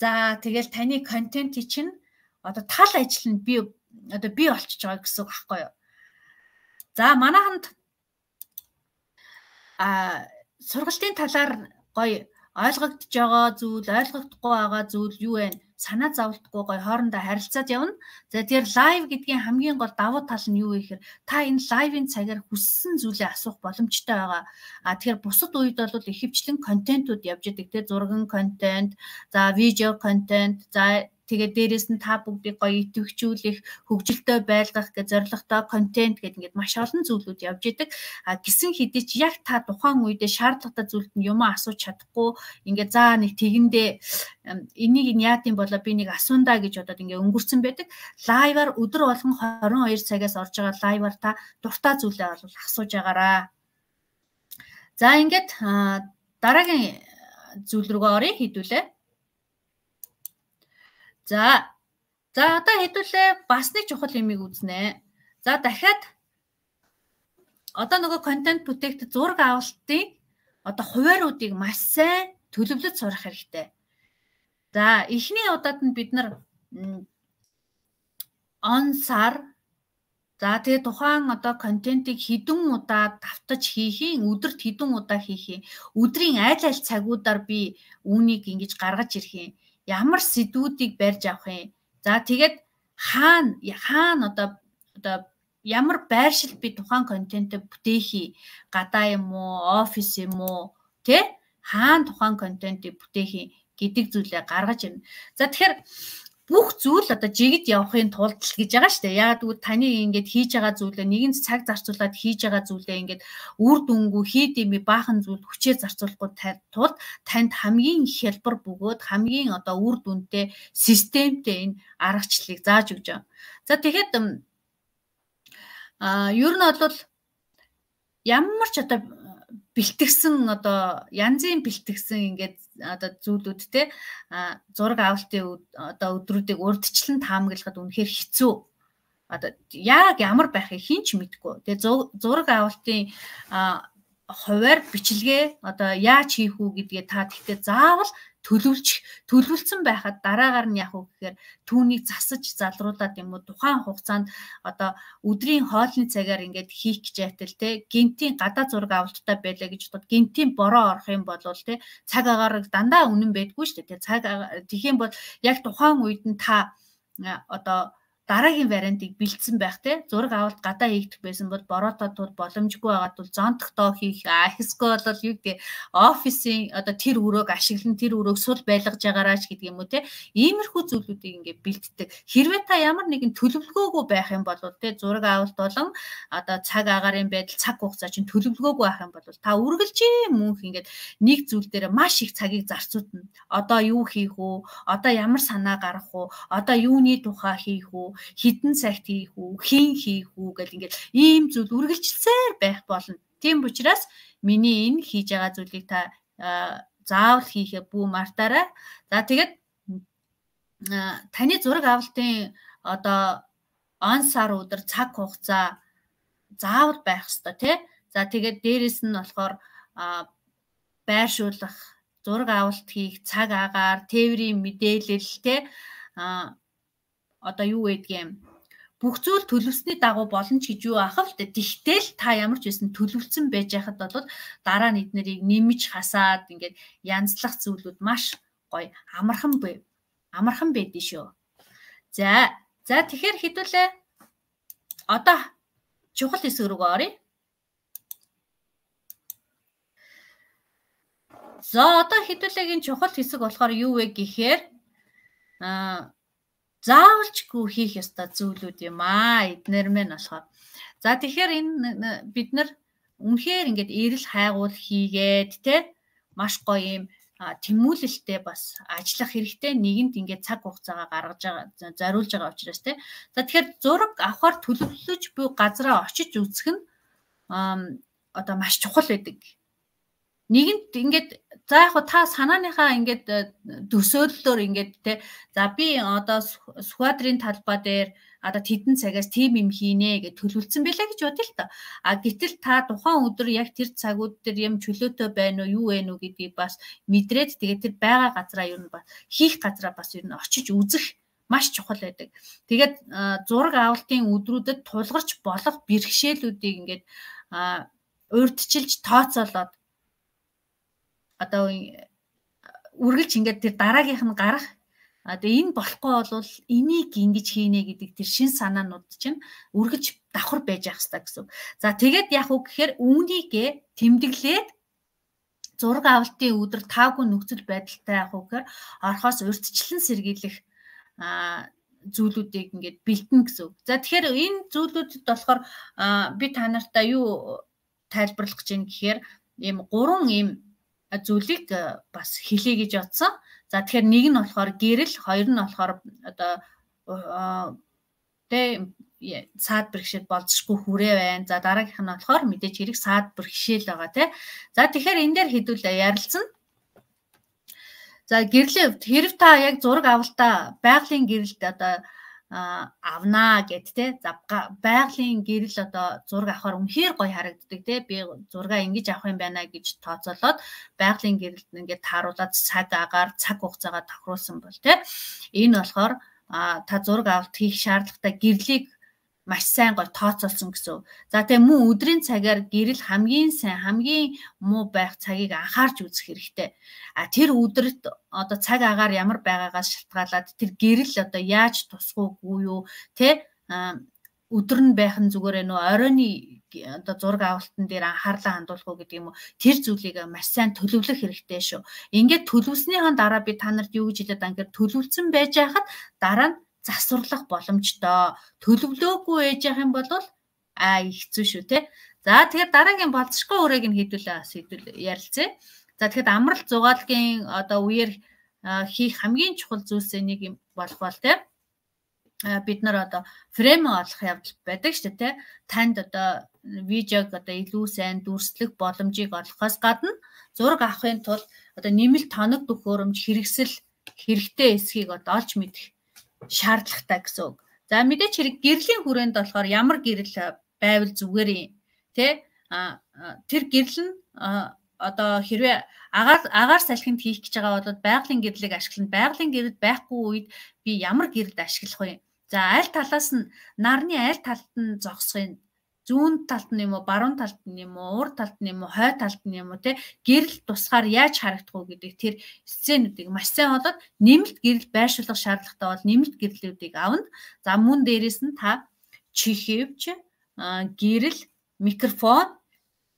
за тэгэл таны контентий чинь одоо тал ажил нь би болчихж байгаа гэсэн үг аахгүй юу. За манайханд сургалтын талаар гоё ойлгогдож байгаа зүйл, ойлгогдохгүй байгаа зүйл юу вэ? Санаа зовлтгүй гоё хоорондоо харилцаад явна. За тэгэхээр лайв гэдгийн хамгийн гол давуу тал нь юу вэ гэхээр та энэ лайвын цагаар хүссэн зүйлээ асуух боломжтой байгаа. Тэгэхээр бусад үед бол ихэвчлэн контентууд явж идэг те зурган контент, за видео контент, за тэгээд дээрэс нь та бүгдийг гоё идэвхжүүлэх, хөгжилтэй байлгах гэж зорилготой контент гэдэг ингээд маш олон зүйлүүд явж идэг. Гисэн хэдий ч яг та тухайн үедээ шаардлагатай зүйлд нь юм асууж чадахгүй ингээд за нэг тэгэндээ энийг нь яад юм болоо би нэг асуундаа гэж бодоод ингээд өнгөрцөн байдаг. Лайваар өдөр болгон 22 цагаас орж байгаа лайваар та дуртай зүйлээ бол асууж агаараа. За ингээд дараагийн зүйл рүүгээ оръё хэдүүлээ. За одоо хэдүүлээ бас нэг чухал юмыг үзнэ. За дахиад одоо нөгөө контент бүтээгдэхүүн зураг авалтын одоо хувааруудыг маш сайн төлөвлөж сурах хэрэгтэй. За эхний удаад нь бид нар онсаар за тэгээ тухайн одоо контентыг хэдэн удаа давтаж хийхийн, өдөрт хэдэн удаа хийхийн, өдрийн аль цагуудаар би үүнийг ингэж гаргаж ирэх юм. Ямар сэдвүүдийг барьж авах юм. За тэгээд хаана одоо ямар байршил би тухайн контентыг бүтээхий, гадаа юм уу, офис юм уу, тэ хаана тухайн контентыг бүтээхий гэдэг зүйлээ гаргаж ирнэ. За тэгэхээр бүх зүйл одоо жигд явахын тулд л гэж байгаа шүү дээ. Яагаад гэвэл таны ингээд хийж байгаа зүйлээ нэгэн цаг зарцуулаад хийж байгаа зүйлээ ингээд үр дүнгүй хийдэмий баахан зүйл хүчээ зарцуулахгүй тулд танд хамгийн их хялбар бөгөөд хамгийн одоо үр дүнтэй системтэй энэ аргачлалыг зааж өгч байгаа. За тэгэхэд ер нь бол ямар ч одоо бэлтгэсэн одоо янзын бэлтгэсэн ингээд одоо зүйлүүд те зураг авалтын одоо өдрүүдийг урдчлан таамаглахад үнэхээр хэцүү. Одоо яг ямар байхыг хэн ч мэдэхгүй. Тэгээ зураг авалтын хуваар бичлэгээ одоо яаж хийх үү гэдгээ та тэгтээ заавал төлөвлөсөн байхад дараагаар нь яг уу гэхээр түүнийг засаж залруулад юм уу тухайн хугацаанд одоо өдрийн хоолны цагаар ингээд хийх гэж байтал те гинтийн гадаа зураг авалттай байлаа гэж бодоход гинтийн бороо орох юм бол те цаг агаар дандаа үнэн байдгүй шүү дээ. Цаг тэгэх юм бол яг тухайн үед нь та одоо дараагийн вариантыг бэлдсэн байх те зураг авалт гадаа хийгдэх байсан бол бороотой тул боломжгүй байгаад бол зонтогтоо хийх эсвэл бол юу гэдэг офисын одоо тэр өрөөг ашиглан тэр өрөөг сул байлгаж байгаараач гэдэг юм уу те иймэрхүү зүйлүүдийг ингээд бэлддэг. Хэрвээ та ямар нэгэн төлөвлөгөөгүй байх юм бол те зураг авалт болон одоо цаг агаарын байдал цаг хугацаа чинь төлөвлөгөөгүй байх юм бол та үргэлжийн мөнх ингээд нэг зүйл дээр маш их цагийг зарцуулна. Одоо юу хийх үү? Одоо ямар санаа гаргах үү? Одоо юуны тухай хийх үү? Хідэн цагт хийх үү, хийн хийх үү гэл ингээд ийм зүйл үргэлжилсээр байх болно. Тийм учраас миний энэ хийж байгаа зүйлийг та заавал хийхээ бүү мартаарай. За тэгээд таны зураг авалтын одоо он сар өдөр цаг хугацаа заавал байх ёстой тий. За тэгээд дээрэс нь болохоор байршуулах, зураг авалт хийх, цаг агаар, тээврийн мэдээлэл тий одоо юу гэдгийг бүх зүйл төлөвсний дагуу болно ч гэж юу ахав л тэгтэл та ямар ч байсан төлөвлөсөн байж байхад бол дараа нь эднэрийг нэмж хасаад ингээд янзлах зүйлүүд маш гоё амархан байдэн шүү. За тэгэхээр хэдүүлээ одоо чухал хэсэг рүү оръё. За одоо хэдүүлээгийн чухал хэсэг болохоор юу вэ гэхээр заавалчгүй хийх ёстой зүйлүүд юм эднэр мэн болохоор. За тэгэхээр энэ бид нар үнэхээр ингээд эрэл хайгуул хийгээд те маш гоё юм тэмүүлэлтэй бас ажиллах хэрэгтэй. Нэгэнт ингээд цаг хугацаагаа гаргаж байгаа зориулж байгаа учраас те. За тэгэхээр зураг авахар төлөвлөж буй газараа очиж үзэх нь одоо маш чухал байдаг. Нэгэнт ингээд за яг та санааныхаа ингээд төсөөллөөр ингээд те за би одоо сквадрын талбай дээр одоо тэдэн цагаас тим юм хийнэ гэж төлөвлөсөн байлаа гэж бодъё л та. Гэтэл та тухайн өдөр яг тэр цагууд дээр юм чөлөөтэй байна уу юу вэ нү гэдгийг бас мэдрээд тэгээд тэр байгаа газараа ер нь бас хийх газараа бас ер нь очиж үзэх маш чухал байдаг. Тэгээд зураг авалтын өдрүүдэд тулгарч болох бэрхшээлүүдийг ингээд урьдчилж тооцоолоод одоо үргэлж ингээд тэр дараагийнх нь гарах одоо энэ болохгүй бол энийг ингэж хийнэ гэдэг тэр шин санаанууд чинь үргэлж давхар байж ах хэрэгтэй гэсэн. За тэгээд яг үг гэхээр үүнийгээ тэмдэглээд зураг авалтын өдөр тавгүй нөхцөл байдалтай яг үг гэхээр орхоос урьдчилан сэргийлэх зүйлүүдийг ингээд бэлтэн гэсэн. За тэгэхээр энэ зүйлүүдэд болохоор би та нартай юу тайлбарлах гэж юм гэхээр ийм 3 ийм зүйлийг бас хэлье гэж бодсон. За тэгэхээр нэг нь болохоор гэрэл, хоёр нь болохоор одоо саад бэрхшээл болзошгүй хүрээ байна. За дараагийнх нь болохоор мэдээж хэрэг саад бэрхшээл байгаа тий. За тэгэхээр энэ дээр хэдүүлээ ярилцсан. За гэрлийн хэрэг та яг зураг авалтаа байгалийн гэрэлд одоо авнаа гэд те. За байгалийн гэрэл одоо зураг авахар үнэхээр гоё харагддаг те. Би зургаа ингэж авах юм байна гэж тооцоолоод байгалийн гэрэлд ингээд тааруулаад цаг агаар цаг хугацаагаа тохируулсан бол те. Энэ болохоор та зураг авалт хийх шаардлагатай гэрлийг маш сайн гоё тооцоолсон гэсэн. За тэгээ мөн өдрийн цагаар гэрэл хамгийн сайн, хамгийн муу байх цагийг анхаарч үзэх хэрэгтэй. Тэр өдөрт одоо цаг агаар ямар байгаагаас шалтгаалаад тэр гэрэл одоо яаж тусгуугүй юу, тэ өдөр нь байх нь зүгээр нөө оройны одоо зураг авалтан дээр анхаарлаа хандуулах уу гэдэг юм уу. Тэр зүйлийг маш сайн төлөвлөх хэрэгтэй шүү. Ингээд төлөвснийхэн дараа би та нарт юу гэж хэлээд байгаа юм гэхээр төлөвлөсөн байж хахад дараа нь засварлах боломжтой. Төлөвлөөгүй ээж явах юм бол хэцүү шүү те. За тэгэхээр дараагийн болцсохгүй үрээг нь хэдүүл ярилцъя. За тэгэхэд амралт зугаалгын одоо үеэр хийх хамгийн чухал зүйлсээ нэг юм болох бол те. бид нар одоо фрейм олох явдал байдаг шүү дээ. Танд одоо видеог одоо илүү сайн дүрслэх боломжийг олохоос гадна зураг авахын тулд одоо нэмэлт тоног төхөөрөмж хэрэгтэй эсхийг одоо олж мэдэх шаардлагатай гэсэн үг. За мэдээч хэрэг гэрлийн хүрээнд болохоор ямар гэрэл байвал зүгээр юм тий тэр гэрэл нь одоо хэрвээ агаар салхинд хийх гэж байгаа бол байгалийн гэрлийг ашиглана. Байгалийн гэрэл байхгүй үед би ямар гэрэлд ашиглах вэ? За аль талаас нь нарны аль талд нь зогсохын зүүн талд нь юм уу, баруун талд нь юм уу, урд талд нь юм уу, хой талд нь юм уу те гэрэл тусгаар яаж харагдах вэ гэдэг тэр сценүүдийг маш сайн олоод нэмэлт гэрэл байршуулах шаардлагатай бол нэмэлт гэрлүүдийг авна. За мөн дээрэс нь та чихэвч, гэрэл, микрофон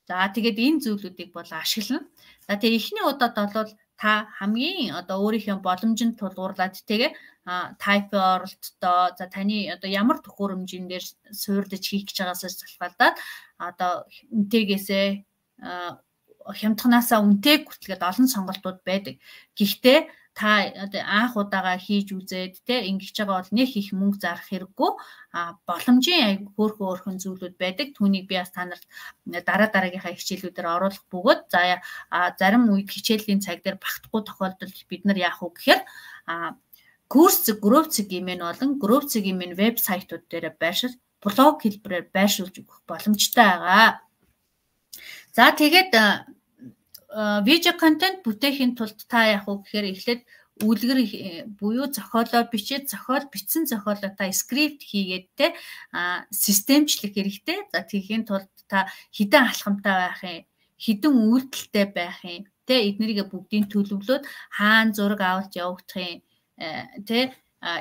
за тэгээд энэ зүйлүүдийг бол ашиглана. За тэгээ эхний удаад бол та хамгийн одоо өөрийнхөө боломжинд тулгуурлаад тэгээ тайп оролттой за таны одоо ямар төхөөрөмжийн дээр суурьлаж хийх гэж байгаасаа шалтгаалаад одоо үнэтэйгээсээ хямдхнаасаа үнэтэйг хүртэлгээд олон сонголтууд байдаг. Гэхдээ та одоо анх удаага хийж үзээд те ингэж байгаа бол нэг их мөнгө зарах хэрэггүй боломжийн хөөрхөн зүйлүүд байдаг. Түүнийг би бас та нарт дараагийнхаа хичээлүүдээр оруулах бөгөөд за зарим үед хичээлийн цаг дээр багтахгүй тохиолдолд бид нар яах вэ гэхээр курс Growth гэмээр болон Growth гэмээр вебсайтууд дээр байршил блог хэлбэрээр байршуулж өгөх боломжтой байгаа. За тэгээд видео контент бүтээхийн тулд та яах вэ гэхээр эхлээд үлгэр буюу зохиолоо бичээд бичсэн зохиолоо та скрипт хийгээд те системчлэх хэрэгтэй. За тийхийн тулд та хідэн алхамтай байх юм, хідэн үйлдэлтэй байх юм, те эднэрийг бүгдийг төлөвлөөд хаана зураг авалт явагдах юм, те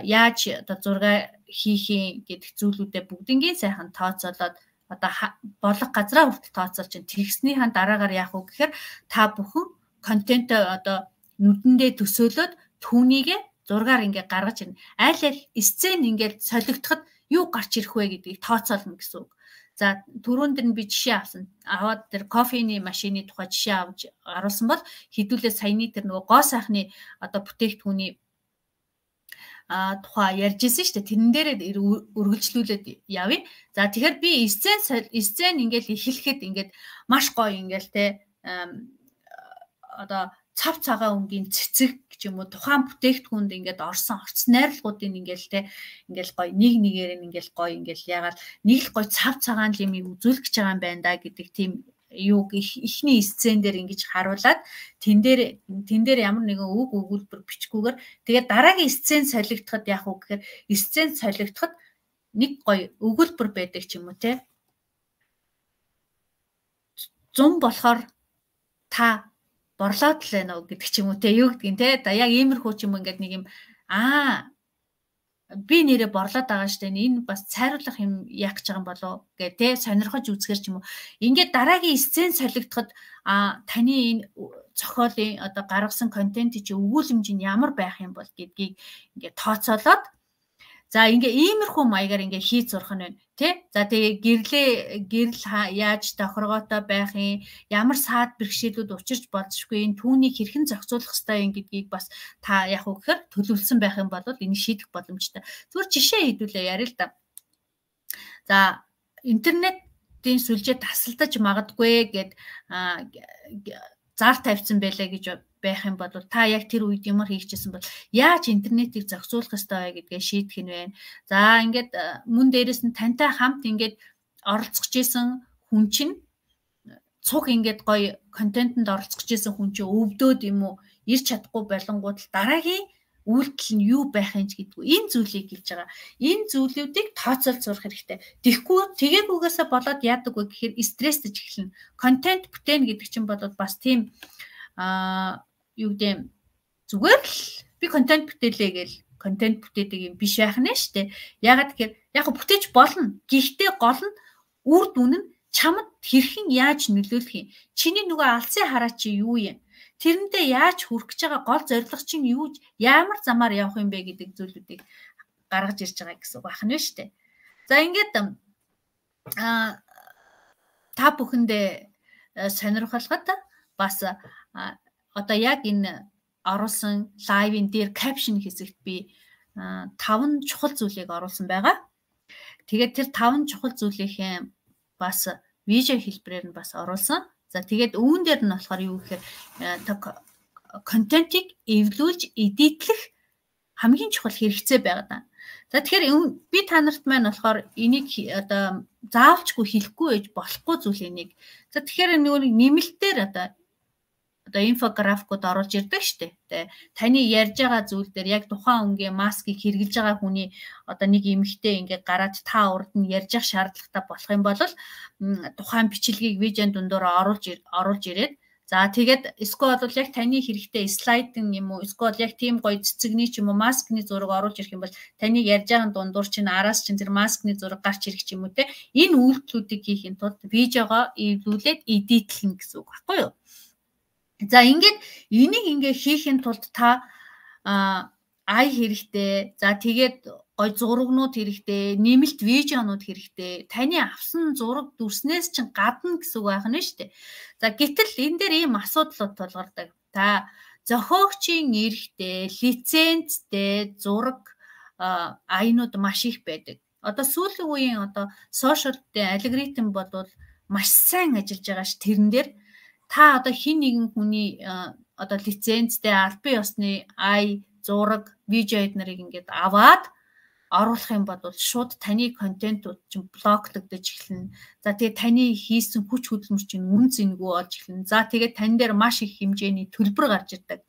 яаж одоо зураг хийх юм гэдэг зүйлүүдээ бүгднийг сайхан тооцоолоод одоо болох газраа хүртэл тооцоолж тэгснийхэн дараагаар яах вэ гэхээр та бүхэн контент одоо нүдэндээ төсөөлөд түүнийг зургаар ингээ гаргаж ирнэ. Аль сцен ингээд солигдоход юу гарч ирэх вэ гэдгийг тооцоолно гэсэн үг. За түрүүн дээр би жишээ авсан. Аваад тэр кофений машины тухай жишээ авч харуулсан бол хэдүүлээ саяны тэр нөгөө гоо сайхны одоо бүтээгдэхүүний тухай ярьж ирсэн шүү дээ. Тэрэн дээр үргэлжлүүлээд явъя. За тэгэхээр би сцен ингээл эхлэхэд ингээд маш гоё ингээл те одоо цав цагаан өнгийн цэцэг гэж юм уу тухайн бүтээгдэхүүнд ингээд орсон найрлагуудын ингээл те ингээл гоё нэгээр ингээл гоё ингээл ягаад нэг л гоё цав цагаан лимийг үзүүлэх гэж байгаа юм байна да гэдэг тийм юуг эхний сцен дээр ингэж харуулад тэн дээр ямар нэгэн үг өгүүлбэр бичгүүгээр тэгээд дараагийн сцен солигдоход яах вэ гэхээр сцен солигдоход нэг гоё өгүүлбэр байдаг ч юм уу те 100 болохоор та борлоод л байна уу гэдэг ч юм уу те юу гэдгийг те да яг иймэрхүү ч юм уу ингээд нэг юм би нэрээ борлоод байгаа штэ энэ бас цайруулах юм яах гэж байгаа юм болоо гэ тэ сонирхож үзэхэр ч юм уу ингээд дараагийн сцен солигдоход таны энэ зохиолын одоо гаргасан контент чи өгүүлэмж нь ямар байх юм бол гэдгийг ингээд тооцоолоод за ингээ иймэрхүү маягаар ингээ хийж сурах нь байна тий. За тэгээ гэрэл яаж тохиргоотой байх юм, ямар саад бэрхшээлүүд учирч болзошгүй энэ түүнийг хэрхэн зохицуулах ёстой юм гэдгийг бас та яг уу гэхээр төлөвлөсөн байх юм бол энийг шийдэх боломжтой. Зүгээр жишээ хэлүүлээ яриа л да. За интернетийн сүлжээ тасалдаж магадгүй гэд зар тавьсан байлаа гэж байх юм бол та яг тэр үед ямар хийчихсэн бол яаж интернетийг зохицуулах ёстой вэ гэдгээ шийдэх нь байна. За ингээд мөн дээрэс нь тантай хамт ингээд оролцож исэн хүн чинь цуг ингээд гоё контентэнд оролцож исэн хүн чинь өвдөөд юм уу ирч чадахгүй болонгууд дараагийн үйлдэл нь юу байх юм гэдэггүй энэ зүйлийг хэлж байгаа. Энэ зүйлүүдийг тооцоолж сурах хэрэгтэй. Тэгэхгүй тэгээгүйгээсээ болоод яадаг вэ гэхээр стресстэж эхэлнэ. Контент бүтээн гэдэг чинь бол бас тийм юу гэдэг зүгээр л би контент бүтээлээ гээл контент бүтээдэг юм биш байх нэ штэ. Ягаад гэхээр яг бүтээж болно. Гэхдээ гол нь үр дүн нь чамд хэрхэн яаж нөлөөлөх юм. Чиний нөгөө алсын хараа чи юу юм? Тэрэндээ яаж хүрэх гэж байгаа гол зорилго чинь юу ямар замаар явах юм бэ гэдэг зүйлүүдийг гаргаж ирж байгаа гэсэн үг байх нь шүү дээ. За ингээд та бүхэндээ сонирхолтой бас одоо яг энэ оруулсан лайвын дээр капшн хэсэгт би 5 чухал зүйлийг оруулсан байгаа. Тэгээд тэр 5 чухал зүйлийнхээ бас видео хэлбэрээр нь бас оруулсан. За тэгээд үүн дээр нь болохоор юу гэхээр контентийг эвлүүлж эдитлэх хамгийн чухал хэрэгцээ байгаа. За тэгэхээр би та нарт маань болохоор энийг одоо заавчгүй хэлэхгүй байж болохгүй зүйл энийг. За тэгэхээр нэг нэмэлтээр одоо инфографикууд оруулж ирдэг шүү дээ. Таны ярьж байгаа зүйл дээр яг тухайн өнгийн маскыг хэрэглэж байгаа хүний одоо нэг эмэгтэй ингээд гараад та урд нь ярьж явах шаардлагатай болох юм бол тухайн бичлэгийг видеон дундуур оруулж ирээд за тэгээд эсвэл бол яг таны хэрэгтэй слайдын юм уу эсвэл яг тийм гоё цэцэгний ч юм уу маскны зураг оруулж ирэх юм бол таны ярьж байгаа дундуур чинь араас чинь тэр маскны зураг гарч ирэх ч юм уу те энэ үйлдэлүүдийг хийхин тулд видеогоо эвлүүлээд эдитлэн гэсэн үг баггүй юу? За ингээд энийг хийхин тулд та ай хэрэгтэй. За тэгээд гой зурагнууд хэрэгтэй, нэмэлт видеонууд хэрэгтэй. Таны авсан зураг дүрснээс чинь гадна гэсэн үг байх нь шүү дээ. За гэтэл энэ дээр ийм асуудлууд тулгардаг. Та зохиогчийн эрхтэй, лицензтэй зураг аянууд маш их байдаг. Одоо сүүлийн үеийн одоо сошиал алгоритм бол маш сайн ажиллаж байгаа ш тэрэн дээр та одоо хин нэгэн хүний одоо лицензтэй албан ёсны ай зураг видео эднэрийг ингээд аваад оруулах юм бол шууд таны контентууд чинь блоклогдож эхэлнэ. За тэгээ таны хийсэн хүч хөдөлмөр чинь үн цэнгүй болж эхэлнэ. За тэгээ тань дээр маш их хэмжээний төлбөр гарч ирдэг.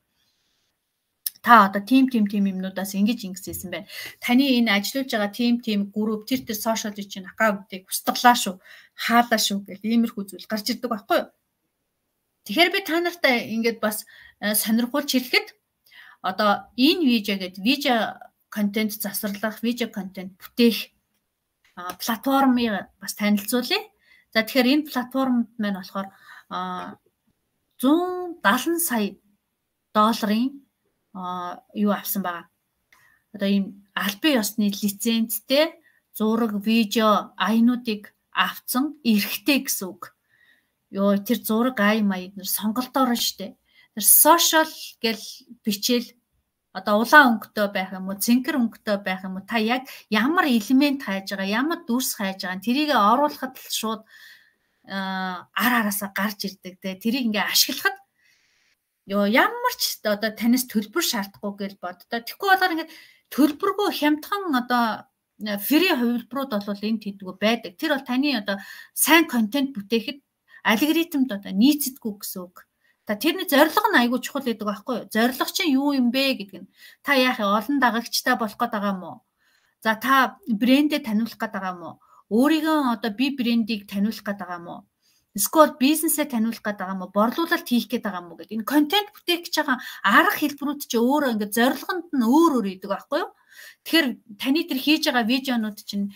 Та одоо тим юмнуудаас ингэж ингэсэн байна. Таны энэ ажиллаж байгаа тим групп тэр сошиал чинь аккаунтыг устгалаа шүү, хаалаа шүү гэх иймэрхүү зүйл гарч ирдэг байхгүй юу? Тэгэхээр би та нартай ингээд бас сонирхуулж хэлэхэд одоо энэ видео контент засварлах, видео контент бүтээх платформыг бас танилцуулъя. За тэгэхээр энэ платформд маань болохоор 170 сая долларын юу авсан байгаа. Одоо ийм албан ёсны лицензтэй зураг, видео, аянуудыг авсан эрхтэй гэсэн үг. Ёо тэр зураг ай маяг нэр сонголтоор нь штэ. Тэр сошиал гэл бичээл одоо улаан өнгөтэй байх юм уу, цэнхэр өнгөтэй байх юм уу, та яг ямар элемент хайж байгаа, ямар дүрс хайж байгаа, тэрийг оруулахад л шууд араасаа гарч ирдэг те. Тэрийг ингээ ашиглахад ёо ямар ч одоо танаас төлбөр шаардахгүй гэж боддоо. Тэгэхгүй болоор ингээ төлбөргүй хямдхан одоо фри хувилбарууд бол энд хийдгүү байдаг. Тэр бол таны одоо сайн контент бүтээхэд алгоритмд одоо нийцдэггүй гэсэн үг. Та тэрний зорилго нь айгүй чухал гэдэг байхгүй юу? Зорилго чинь юу юм бэ гэдэг нь. Та яах вэ? Олон дагагчтай болох гээд байгаа юм уу? За та брэндээ таниулах гээд байгаа юм уу? Өөрийгөө одоо би брэндийг таниулах гээд байгаа юм уу? Эсвэл бизнесээ таниулах гээд байгаа юм уу? Борлуулалт хийх гээд байгаа юм уу гэдэг. Энэ контент бүтээх гэж байгаа арга хэлбэрүүд чинь өөрөө ингээд зорилгонд нь өөр идэг байхгүй юу? Тэгэхээр таны тэр хийж байгаа видеонууд чинь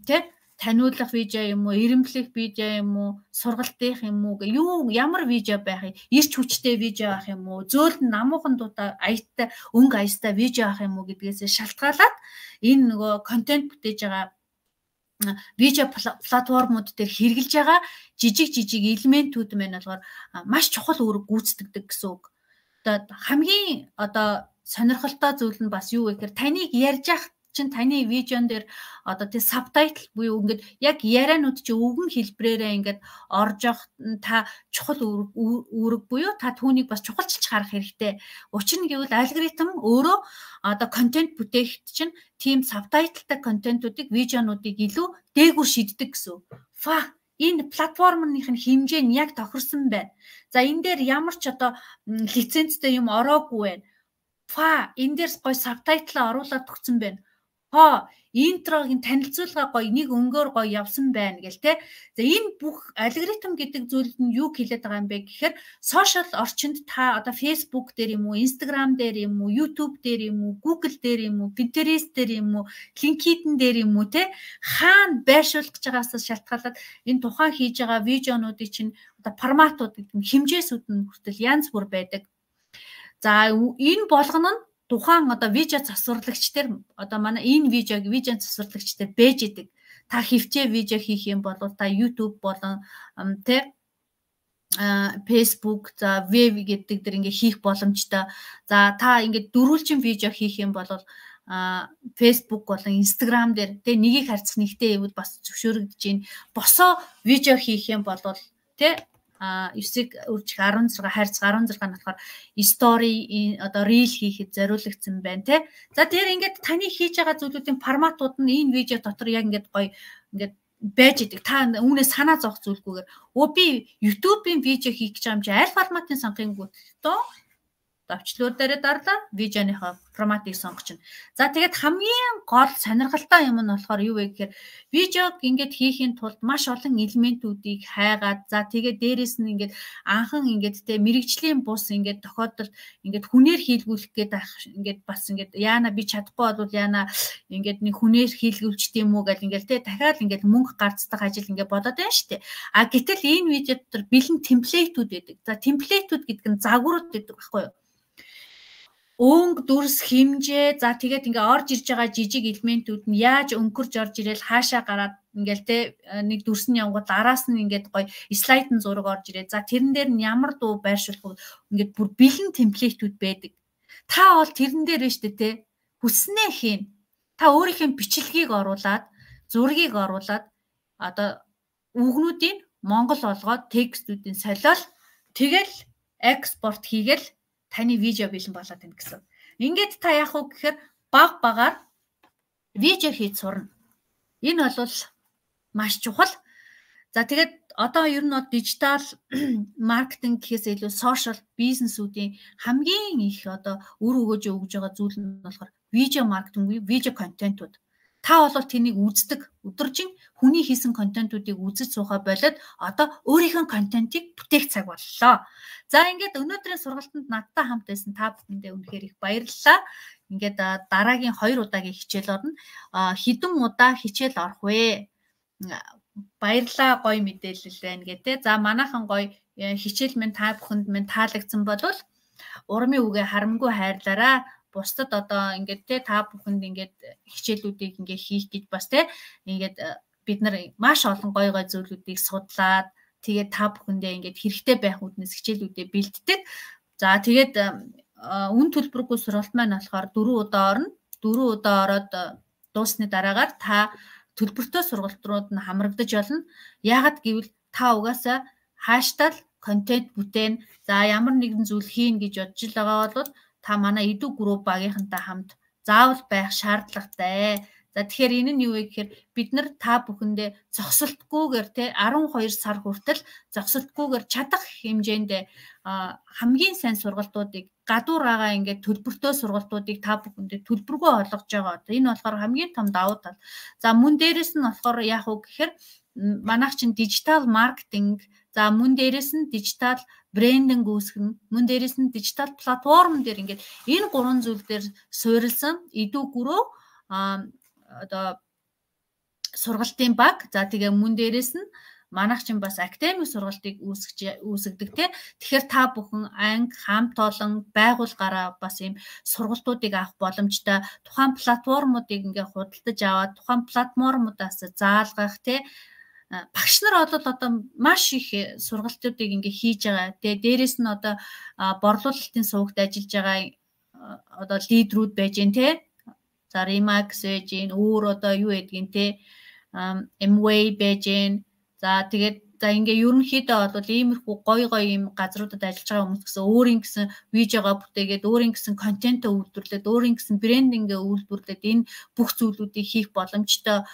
тэ таниулах видео юм уу, ирэмблэх видео юм уу, сургалтынх юм уу, ямар видео байх юм, ирч хүчтэй видео авах юм уу, зөөлд намуухан дуутай аятай өнгө аястай видео авах юм уу гэдгээс шалтгаалаад энэ нөгөө контент бүтээж байгаа видео платформуд дээр хэрэгжилж байгаа жижиг элементүүд мэн болохоор маш чухал үүрэг гүйцэтгэдэг гэсэн үг. Одоо хамгийн одоо сонирхолтой зүйл нь бас юу вэ гэхээр таныг ярьж ах чинь таны видеон дээр одоо тий сабтайтл буюу ингээд яг ярианууд чи өвгөн хэлбрээрээ ингээд орж явах та чухал үүрэг буюу та түүнийг бас чухалчилж харах хэрэгтэй. Учир нь гэвэл алгоритм өөрөө одоо контент бүтээхэд чинь тийм сабтайтлтай контентуудыг видеонуудыг илүү дээгүүр шийддэг гэсэн. Энэ платформынх нь хэмжээ нь яг тохирсон байна. За энэ дээр ямар ч одоо лицензтэй юм ороогүй байна. Энэ дээр гоё сабтайтлаа оруулаад өгсөн байна. Интрогийн танилцуулга гоё нэг өнгөөр гоё явсан байна гэл те. За энэ бүх алгоритм гэдэг зүйлд нь юу хэлээд байгаа юм бэ гэхээр сошиал орчинд та одоо Facebook дээр юм уу, Instagram дээр юм уу, YouTube дээр юм уу, Google дээр юм уу, Pinterest дээр юм уу, LinkedIn дээр юм уу те хаана байршуулах гэж байгаагаас шалтгаалаад энэ тухайн хийж байгаа видеонуудыг чинь одоо форматууд гэдэг хэмжээсүүд нь хүртэл янз бүр байдаг. За энэ болгоно нь тухайн одоо видео засварлагч дээр одоо манай энэ видео засварлагч дээр бэж идэг. Та хөвчөө видео хийх юм бол та YouTube болон тэ Facebook за веб гэдэг дэр ингээ хийх боломжтой. За та ингээ дөрвөлжин видео хийх юм бол Facebook болон Instagram дээр тэ нэгийг харьцах нэгтэй юмуд бас зөвшөөрөгдөж байна. Босоо видео хийх юм бол тэ 9-ийг үржих 16 хайрцаг 16 нь болохоор story одоо reel хийхэд зориулагдсан байна те. За тэгэхээр ингээд таны хийж байгаа зүйлүүдийн форматууд нь энэ видео дотор яг ингээд гоё ингээд байж идэг. Та үүнээс санаа зовх зүйлгүйгээр би YouTube-ийн видео хийх гэж байгаа юм чи аль форматын сонгохын гүтдөө давчлуур дээр дарлаа видеоныхоо форматыг сонгочихно. За тэгээд хамгийн гол сонирхолтой юм нь болохоор юу вэ гэхээр видеог ингээд хийхийн тулд маш олон элементүүдийг хайгаад за тэгээд дээрэс нь ингээд анхан ингээд тэ мэрэгжлийн бус ингээд тохиолдолд ингээд хүнээр хийлгүүлэх гээд ингээд бас ингээд яана би чадахгүй бол яана ингээд нэг хүнээр хийлгүүлчт юм уу гэл ингээд тэ дахиад ингээд мөнгө гарцдаг ажил ингээд болоод байна шүү дээ. Гэтэл энэ видео дотор бэлэн темплейтүүд байдаг. За темплейтүүд гэдэг нь загварууд гэдэг байхгүй юу? Өнгө дүрс хэмжээ за тэгээд ингээ орж ирж байгаа жижиг элементүүд нь яаж өнгөрж орж ирэл хаашаа гараад ингээл те нэг дүрс нь явгууд араас нь ингээд гоё слайдын зураг орж ирээ. За тэрэн дээр нь ямар дуу байршуулах ингээд бүр бэлэн темплейтүүд байдаг. Та бол тэрэн дээр нь штэ те хүснээ хийн. Та өөрийнхөө бичлэгийг оруулаад зургийг оруулаад одоо үгнүүдийн монгол болгоод текстүүдийн солиол тэгэл экспорт хийгээл таны видео бэлэн болоод байна гэсэн. Ингээд та яах вэ гэхээр баг багаар видео хийж сурна. Энэ бол маш чухал. За тэгээд одоо ер нь дижитал маркетинг гэхээс илүү сошиал бизнесүүдийн хамгийн их одоо үр өгөөж өгж байгаа зүйл нь болохоор видео маркетинг, видео контентууд. Та бол тэнийг үздэг, өдөржин хүний хийсэн контентуудыг үзэж суухаа болоод одоо өөрийнхөө контентыг бүтээх цаг боллоо. За ингээд өнөөдрийн сургалтанд надтай хамт байсан та бүхэндээ үнэхээр их баярлалаа. Ингээд дараагийн 2 удаагийн хичээл орно. Хэдэн удаа хичээл орох вэ? Баярлалаа, гоё мэдээлэл байна гэдэг. За манайхан гоё хичээл минь та бүхэнд минь таалагдсан бол урмын үгээ харамгүй хайрлаарай. Бусдад одоо ингээд те та бүхэнд ингээд хичээлүүдийг ингээд хийх гэж бас те ингээд бид нар маш олон гоё гоё зүйлүүдийг судлаад тэгээд та бүхэндээ ингээд хэрэгтэй байх үднэс хичээлүүдээ бэлддэг. За тэгээд үн төлбөргүй сургалт маань болохоор 4 удаа орно. 4 удаа ороод дуусны дараагаар та төлбөртэй сургалт рууд нь хамрагдаж болно. Яагаад гэвэл та угаасаа хаштаг контент бүтээн за ямар нэгэн зүйл хийн гэж бодж байгаа бол та манай эдүү групп багийнхантай хамт заавал байх шаардлагатай. За тэгэхээр энэ нь юу вэ гэхээр бид нар та бүхэндээ зогсолтгүйгээр те 12 сар хүртэл зогсолтгүйгээр чадах хэмжээнд хамгийн сайн сургалтуудыг гадуур байгаа ингээд төлбөртэй сургалтуудыг та бүхэндээ төлбөргүй олгож байгаа. Энэ болохоор хамгийн том давуу тал. За мөн дээрэс нь болохоор яах вэ гэхээр манайх чинь дижитал маркетинг за мөн дээрэс нь дижитал брендинг үүсгэн мөн дээрэс нь дижитал платформ дээр ингээд энэ 3 зүйл дээр суурилсан эдүү гүрөө одоо сургалтын баг за тэгээ мөн дээрэс нь манайх чинь бас академик сургалтыг үүсгдэг те. Тэгэхээр та бүхэн анги хамт олон байгууллагаараа бас ийм сургалтуудыг авах боломжтой. Тухайн платформуудыг ингээд худалдаж аваад тухайн платформудаас заалгах те. Багш нар одоо маш их сургалтуудыг ингээ хийж байгаа. Тэгээ дээрэс нь одоо борлуулалтын сувагт ажиллаж байгаа одоо лидерүүд байж гэн те. За Remax байж гэн, өөр одоо юу гэдгийг те. Mway байж гэн. За тэгээд за ингээ ерөнхийдөө бол иймэрхүү гоё ийм газруудад ажиллаж байгаа хүмүүс гэсэн өөрийн гэсэн видеогоо бүтээгээд өөрийн гэсэн контентоо үйлдвэрлээд өөрийн гэсэн брендингээ үйлдвэрлээд энэ бүх зүйлүүдийг хийх боломжтой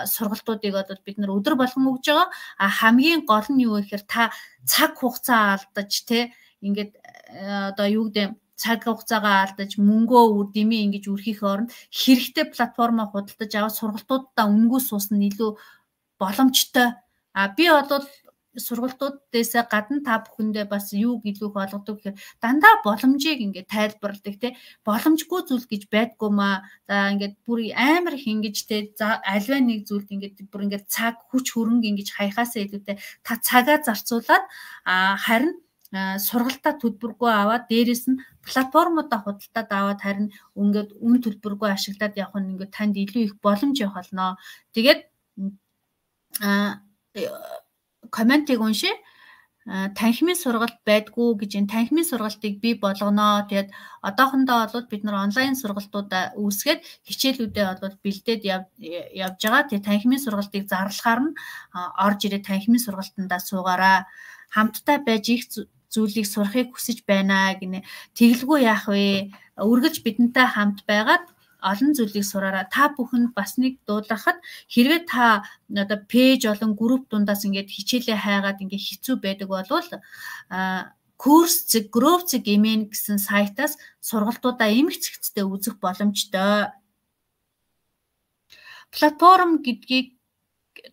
сургалтуудыг одоо бид нар өдөр болгон өгж байгаа. Хамгийн гол нь юу вэ гэхээр та цаг хугацаа алдаж те ингээд одоо юу гэдэг цаг хугацаагаа алдаж мөнгөө дэмий ингэж үрхийх оронд хэрэгтэй платформоо худалдаж аваад сургалтуудаа өнгөө суусна илүү боломжтой. Би бол сургалтуудаас гадна та бүхэндээ бас юу гэлүүх болгодог гэхээр дандаа боломжийг ингээд тайлбарладаг те боломжгүй зүйл гэж байдгүй маа. За ингээд бүр амар их ингэж те за альва нэг зүйлд ингээд бүр ингээд цаг хүч хөрөнгө ингэж хаяхаасаа илүүтэй та цагаа зарцуулаад харин сургалтаа төлбөргүй аваад дээрэс нь платформудаа худалдаад аваад харин ингээд үн төлбөргүй ашиглаад явах нь ингээд танд илүү их боломж явах болно. Тэгээд комментиг уншия. танхимын сургалт байдгүй гэж энэ танхимын сургалтыг бий болгоно. Тэгээд одоохондоо бол бид нар онлайн сургалтуудаа үүсгээд хичээлүүдээ бол бэлдээд явж байгаа. Тэгээд танхимын сургалтыг зарлахаар нь орж ирээд танхимын сургалтандаа суугаараа хамтдаа байж их зүйлийг сурахыг хүсэж байна гинэ. Тэгэлгүй яах вэ? Үргэлж бидэнтэй хамт байгаад олон зүйлийг сураараа. Та бүхэнд бас нэг дуулгахад хэрвээ та одоо пэйж болон групп дундаас ингээд хичээлээ хайгаад ингээд хэцүү байдаг болвол Coursera гэмээн гэсэн сайтаас сургалтуудаа эмх цэгцтэй үзэх боломжтой. Платформ гэдгийг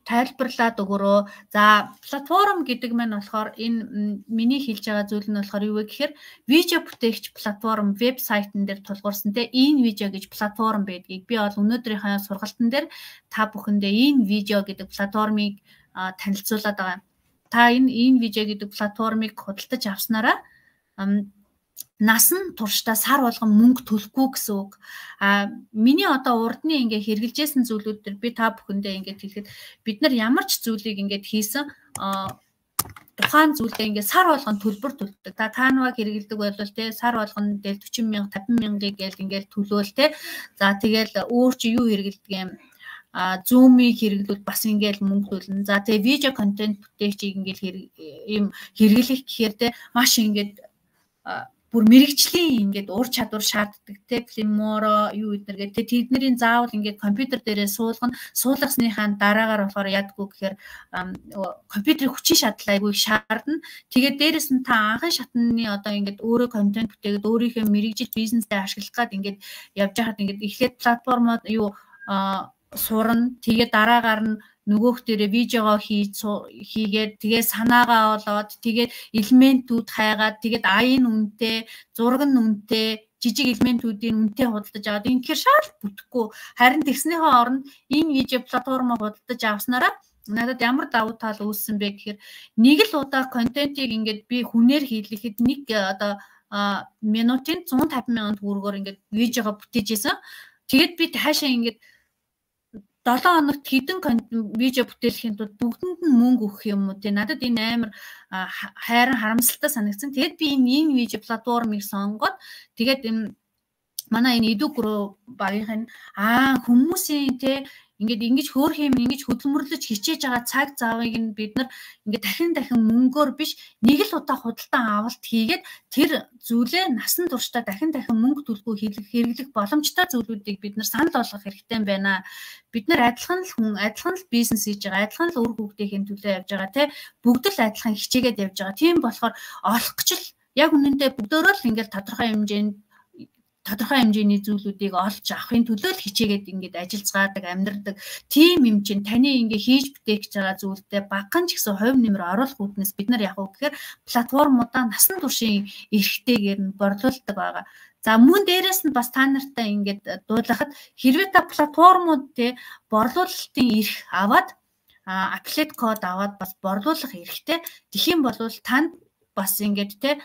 тайлбарлаад өгөрөө. За платформ гэдэг маань болохоор энэ миний хэлж байгаа зүйл нь болохоор юу вэ гэхээр видео бүтээгч платформ вебсайтн дээр тулгуурсан те энэ видео гэж платформ байдгийг би бол өнөөдрийнхээ сургалтын дээр та бүхэндээ энэ видео гэдэг платформыг танилцуулаад байгаа. Та энэ видео гэдэг платформыг худалдаж авснараа насан туршдаа сар болгон мөнгө төлөхгүй гэсэн үг. Миний одоо урдны ингээ хэрэгжилжсэн зүйлүүд төр би та бүхэндээ ингээ хэлэхэд бид нар ямар ч зүйлийг ингээ хийсэн тухайн зүйлдээ ингээ сар болгон төлбөр төлдөг. Та Canva хэрэгэлдэг бол те сар болгон дээр 40 мянга 50 мянгыг гээл ингээл төлөөл те. За тэгэл өөр чи юу хэрэгэлдэг юм? Zoom-ийг хэрэглүүл бас ингээл мөнгө төлнө. За тэгээ видео контент бүтээгчийг ингээл ийм хэрэглэх гэхээр те маш ингээд бүр мэрэгжлийн ингээд ур чадвар шаарддаг те Filmora юу гэднэр гэдэг тэдний заавал ингээд компьютер дээрээ суулгасныхаа дараагаар болохоор ядгүй гэхээр компьютерийн хүчин шаардлага айгүй шаардна. Тэгээд дээрэс нь та анхын шатны одоо ингээд өөрөө контент бүтээгээд өөрийнхөө мэрэгжил бизнестэй ашиглах гад ингээд явж байхад ингээд эхлээд платформод юу сурна. Тэгээд дараагаар нь нөгөөх дээрээ видеогоо хийгээд тэгээд санаагаа болоод тэгээд элементүүд хайгаад тэгээд аян үнэтэй, зураг нь үнэтэй, жижиг элементүүдийн үнэтэй худалдаж аваад ингэхээр шал бүтэхгүй. Харин тэгснийхээ оронд энэ видео платформоо худалдаж авснараа надад ямар давуу тал үүссэн бэ гэхээр нэг л удаа контентийг ингээд би хүнээр хийлгэхэд нэг одоо минутын 150 мянган төгрөгөөр ингээд видеогоо бүтээж ийсэн. Тэгээд би хаашаа ингээд 7 хоногт хэдэн видео бүтээхийн тулд бүгдэнд нь мөнгө өгөх юм уу те надад энэ амар хайран харамсалтай санагдсан. Тэгээд би энэ видео платформыг сонгоод тэгээд манай энэ Edugro багийнх нь хүмүүсийн те ингээд ингэж хөөх юм ингэж хөдөлмөрлөж хичээж байгаа цаг завыг нь бид нар ингээд дахин мөнгөөр биш нэг л удаа худалдан авалт хийгээд тэр зүйлээ насан туршдаа дахин мөнгө төлгүй хэрэглэх боломжтой зүйлүүдийг бид нар санал болгох хэрэгтэй байна. Бид нар адилхан л бизнес хийж байгаа, адилхан л үр хөвгтийн төлөө явж байгаа те бүгд л адилхан хичээгээд явж байгаа. Тийм болохоор олох гэж л яг үнэндээ бүгдөө л ингээд тодорхой хэмжээний зүйлүүдийг олж авахын төлөө л хичээгээд ингээд ажиллацгаадаг, амьдрдаг. Тим юм чинь таны ингээд хийж бүтээх гэж байгаа зүйлдээ багхан ч гэсэн хувь нэмэр оруулах үүднээс бид нар яг уу гэхээр платформудаа насан туршийн эрхтэйгээр нь борлуулдаг байгаа. За мөн дээрэс нь бас та нартай ингээд дуулахад хэрвээ та платформуд те борлуулалтын эрх аваад affiliate код аваад бас борлуулах эрхтэй. Тэгхийн бол танд бас ингээд те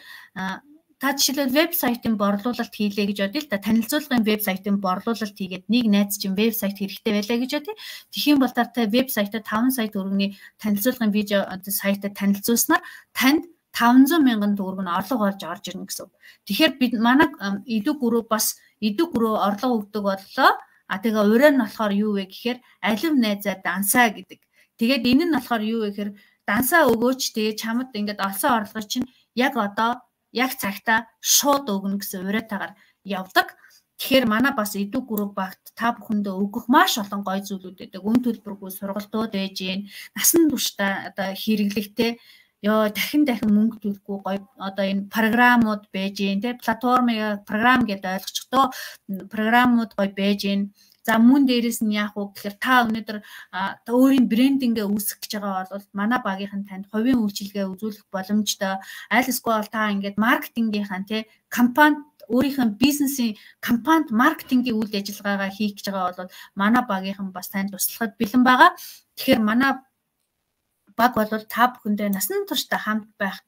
та жишээлбэл вебсайтын борлуулалт хийлээ гэж бодъё л та танилцуулгын вебсайтын борлуулалт хийгээд нэг найз чинь вебсайт хэрэгтэй байлаа гэж бодъё. Тэгхийн бол та вебсайтад 5 сая төгрөгийн танилцуулгын видео сайтад танилцуулснаар танд 500 мянган төгрөг нь орлого болж орж ирнэ гэсэн. Тэгэхээр бид манай Edugro орлого өгдөг боллоо. Тэгээ ураа нь болохоор юу вэ гэхээр алив найзаа дансаа гэдэг. Тэгээд энэ нь болохоор юу вэ гэхээр дансаа өгөөч тэгээ чамд ингээд олсон орлого чинь яг цагтаа шууд өгнө гэсэн уриатаагаар явдаг. Тэгэхээр манай бас Edugro багт та бүхэндээ өгөх маш олон гоё зүйлүүд байдаг. Үн төлбөргүй сургалтууд байж гин. Насан туршдаа одоо хэрэглэхтэй дахин мөнгө төлөхгүй гоё одоо энэ програмууд байж гин. Тэ програм гэдэг ойлгочихдоо програмууд гоё байж гин. За мөн дээрээс нь яах вэ гэхээр та өнөөдөр өөрийн брендингээ үүсгэх гэж байгаа бол манай багийнхан танд хувийн үйлчилгээ үзүүлэх боломжтой. Аль эсвэл та ингээд маркетингийнхан тий компанид өөрийнхөө бизнесийн компанид маркетингийн үйл ажиллагаагаа хийх гэж байгаа бол манай багийнхан бас танд туслахад бэлэн байгаа. Тэгэхээр манай баг бол та бүхэндээ насан туршдаа хамт байх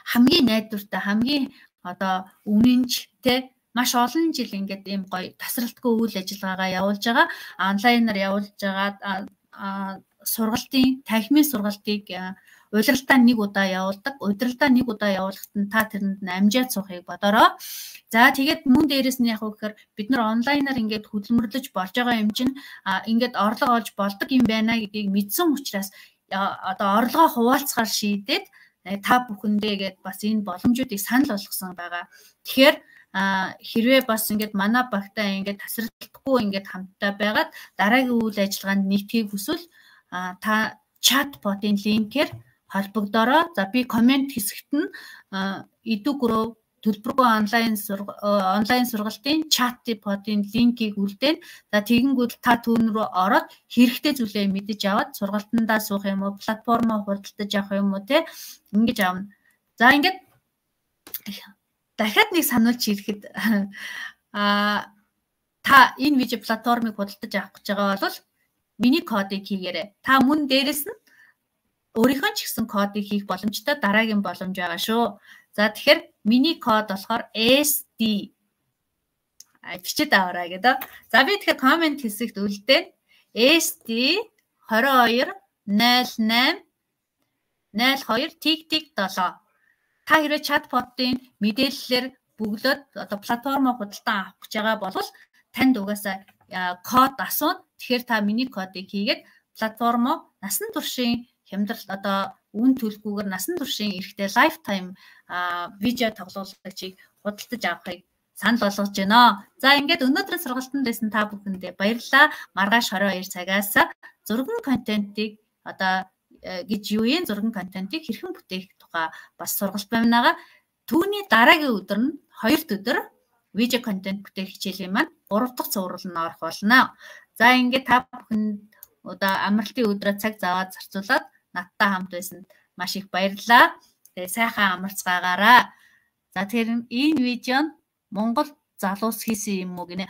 хамгийн найдвартай хамгийн одоо үнэнч тий маш олон жил ингээд ийм гоё тасралтгүй үйл ажиллагаагаа явуулж байгаа. Онлайнаар явуулж байгаа танхимын сургалтыг Удирдалтаа нэг удаа явуулдаг. Удирдалтаа нэг удаа явуулахад нь та тэрэнд амжаад суухыг бодороо. За тэгээд мөн дээрэс нь яг гэхээр бид нар онлайнаар ингээд хөдөлмөрлөж болж байгаа юм чинь ингээд орлого олж болдог юм байна гэдгийг мэдсэн учраас одоо орлогоо хуваалцахаар шийдээд та бүхэндээ гээд бас энэ боломжуудыг санал болгосон байгаа. Тэгэхээр хэрвээ бас ингээд манай багтаа ингээд тасралтгүй ингээд хамтдаа байгаад дараагийн үйл ажиллагаанд нийтхийг хүсвэл та чатботын линкээр холбогдороо. За би комент хэсэгт нь Edu Grow төлбөргүй онлайн сургалтын чатботын линкийг үлдээн. За тэгэнгүүт та түүн рүү ороод хэрэгтэй зүйлээ мэдэж аваад сургалтандаа суух юм уу, платформоо худалдаж авах юм уу те ингэж аавна. За ингээд дахиад нэг сануулж ирэхэд та энэ видео платформыг худалдаж авах гэж байгаа бол миний кодыг хийгээрэй. Та мөн дээрэс нь өөрийнхөө ч гэсэн кодыг хийх боломжтой дараагийн боломж байгаа шүү. За тэгэхээр миний код болохоор SD бичээд аваарай гэдэг. За би тэгэхээр комент хэсэгт үлдээн SD 22 08 02 тиг 7. Та хэрвээ чатботын мэдээллээр бөглөөд одоо платформоо худалдан авах гэж байгаа бол танд угаасаа код асууна. Тэгэхээр та миний кодыг хийгээд платформоо насан туршийн хямдрал одоо үн төлөхгүйгээр насан туршийн эрэхтэй lifetime видео тоглоулагчийг худалдаж авахыг санал болгож байна. За ингээд өнөөдрийн сургалтанд байсан та бүхэндээ баярлалаа. Маргааш 22 цагаас зургийн контентыг одоо гэж юу юм зургийн контентыг хэрхэн бүтээх тухай бас сургалт байна. Түүний дараагийн өдөр нь 2 өдөр видео контент бүтээх хичээлийн маань 3 дахь цуврал нь орох болно. За ингээд та бүхэнд одоо амралтын өдрөө цаг зав зарцуулаад надтай хамт байсанд маш их баярлалаа. Тэгээ сайхан амарцгаагаараа. За тэгэхээр энэ видео нь Монгол залуус хийсэн юм уу гинэ.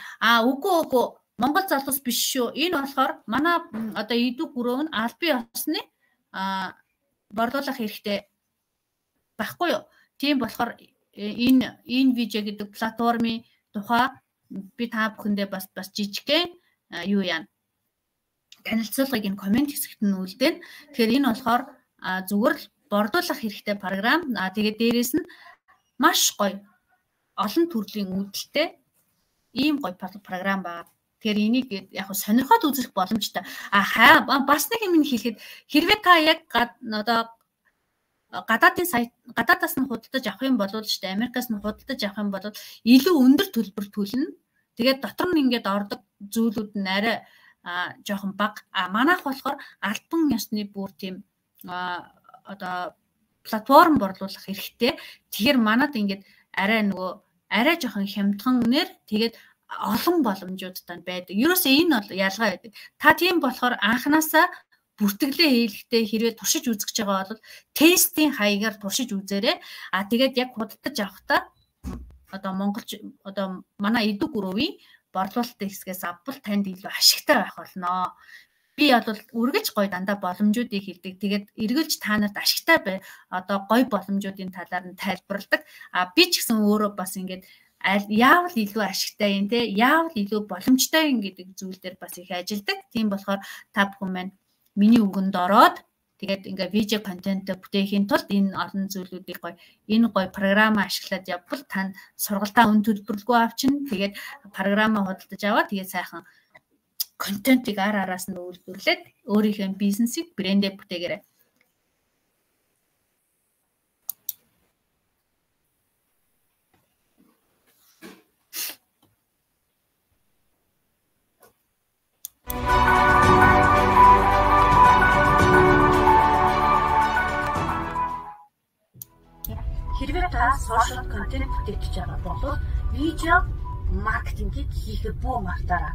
Үгүй Монгол залуус биш шүү. Энэ болохоор манай одоо Edu Grow нь албан ёсны борлуулах хэрэгтэй байхгүй юу? Тийм болохоор энэ видео гэдэг платформын тухай би та бүхэндээ бас жижигхэн юу яана танилцуулгыг энэ комент хэсэгт нь үлдээн. Тэгэхээр энэ болохоор зүгээр л борлуулах хэрэгтэй програм. Тэгээд дээрээс нь маш гоё олон төрлийн үүдэлтэй ийм гоё програм байгаа. Тэгэхээр энийг яг сонирхоод үзэх боломжтой. Бас нэг юм хэлэхэд хэрвээ та яг одоо гадаадаас нь худалдаж авах юм бол шүү дээ. Америкаас нь худалдаж авах юм бол илүү өндөр төлбөр төлнө. Тэгээд дотор нь ингээд ордог зүйлүүд нь арай жоохон бага. Манайх болохоор албан ёсны бүр тийм одоо платформ борлуулах хэрэгтэй. Тэгэхээр манад ингээд арай жоохон хямдхан нэр тэгээд олон боломжуудтай байдаг. Ерөөсөө энэ бол ялгаа байдаг. Та тийм болохоор анханасаа бүртгэлээ хийлгэхдээ хэрвээ туршиж үзэж байгаа бол тестийн хаягаар туршиж үзээрэй. Тэгээд яг худалдаж авахдаа одоо монголч одоо манай Edu Grow-ийн борлуулалтын хэсгээс авбал танд илүү ашигтай байх болно. Би бол үргэлж гоё дандаа боломжуудыг хэлдэг. Тэгээд эргэлж та нарт ашигтай одоо гоё боломжуудын талаар нь тайлбарладаг. Би ч гэсэн өөрөө бас ингээд яавал илүү ашигтай юм те яавал илүү боломжтой юм гэдэг зүйл дээр бас их ажилдаг. Тийм болохоор та бүхэн маань миний үгэнд ороод тэгээд ингээ видео контент бүтээхийн тулд энэ олон зүйлүүдийг энэ гоё програмаа ашиглаад явбал тань сургалтаа үн төлбөрлөгөө авчин тэгээд програмаа худалдаж аваад тэгээд сайхан контентыг араас нь үйлдвэрлээд өөрийнхөө бизнесийг брэндээ бүтээгээрэй. Хэрвээ та social content бүтээх гэж байгаа бол видео маркетингийг хийхэд бүү мартаарай.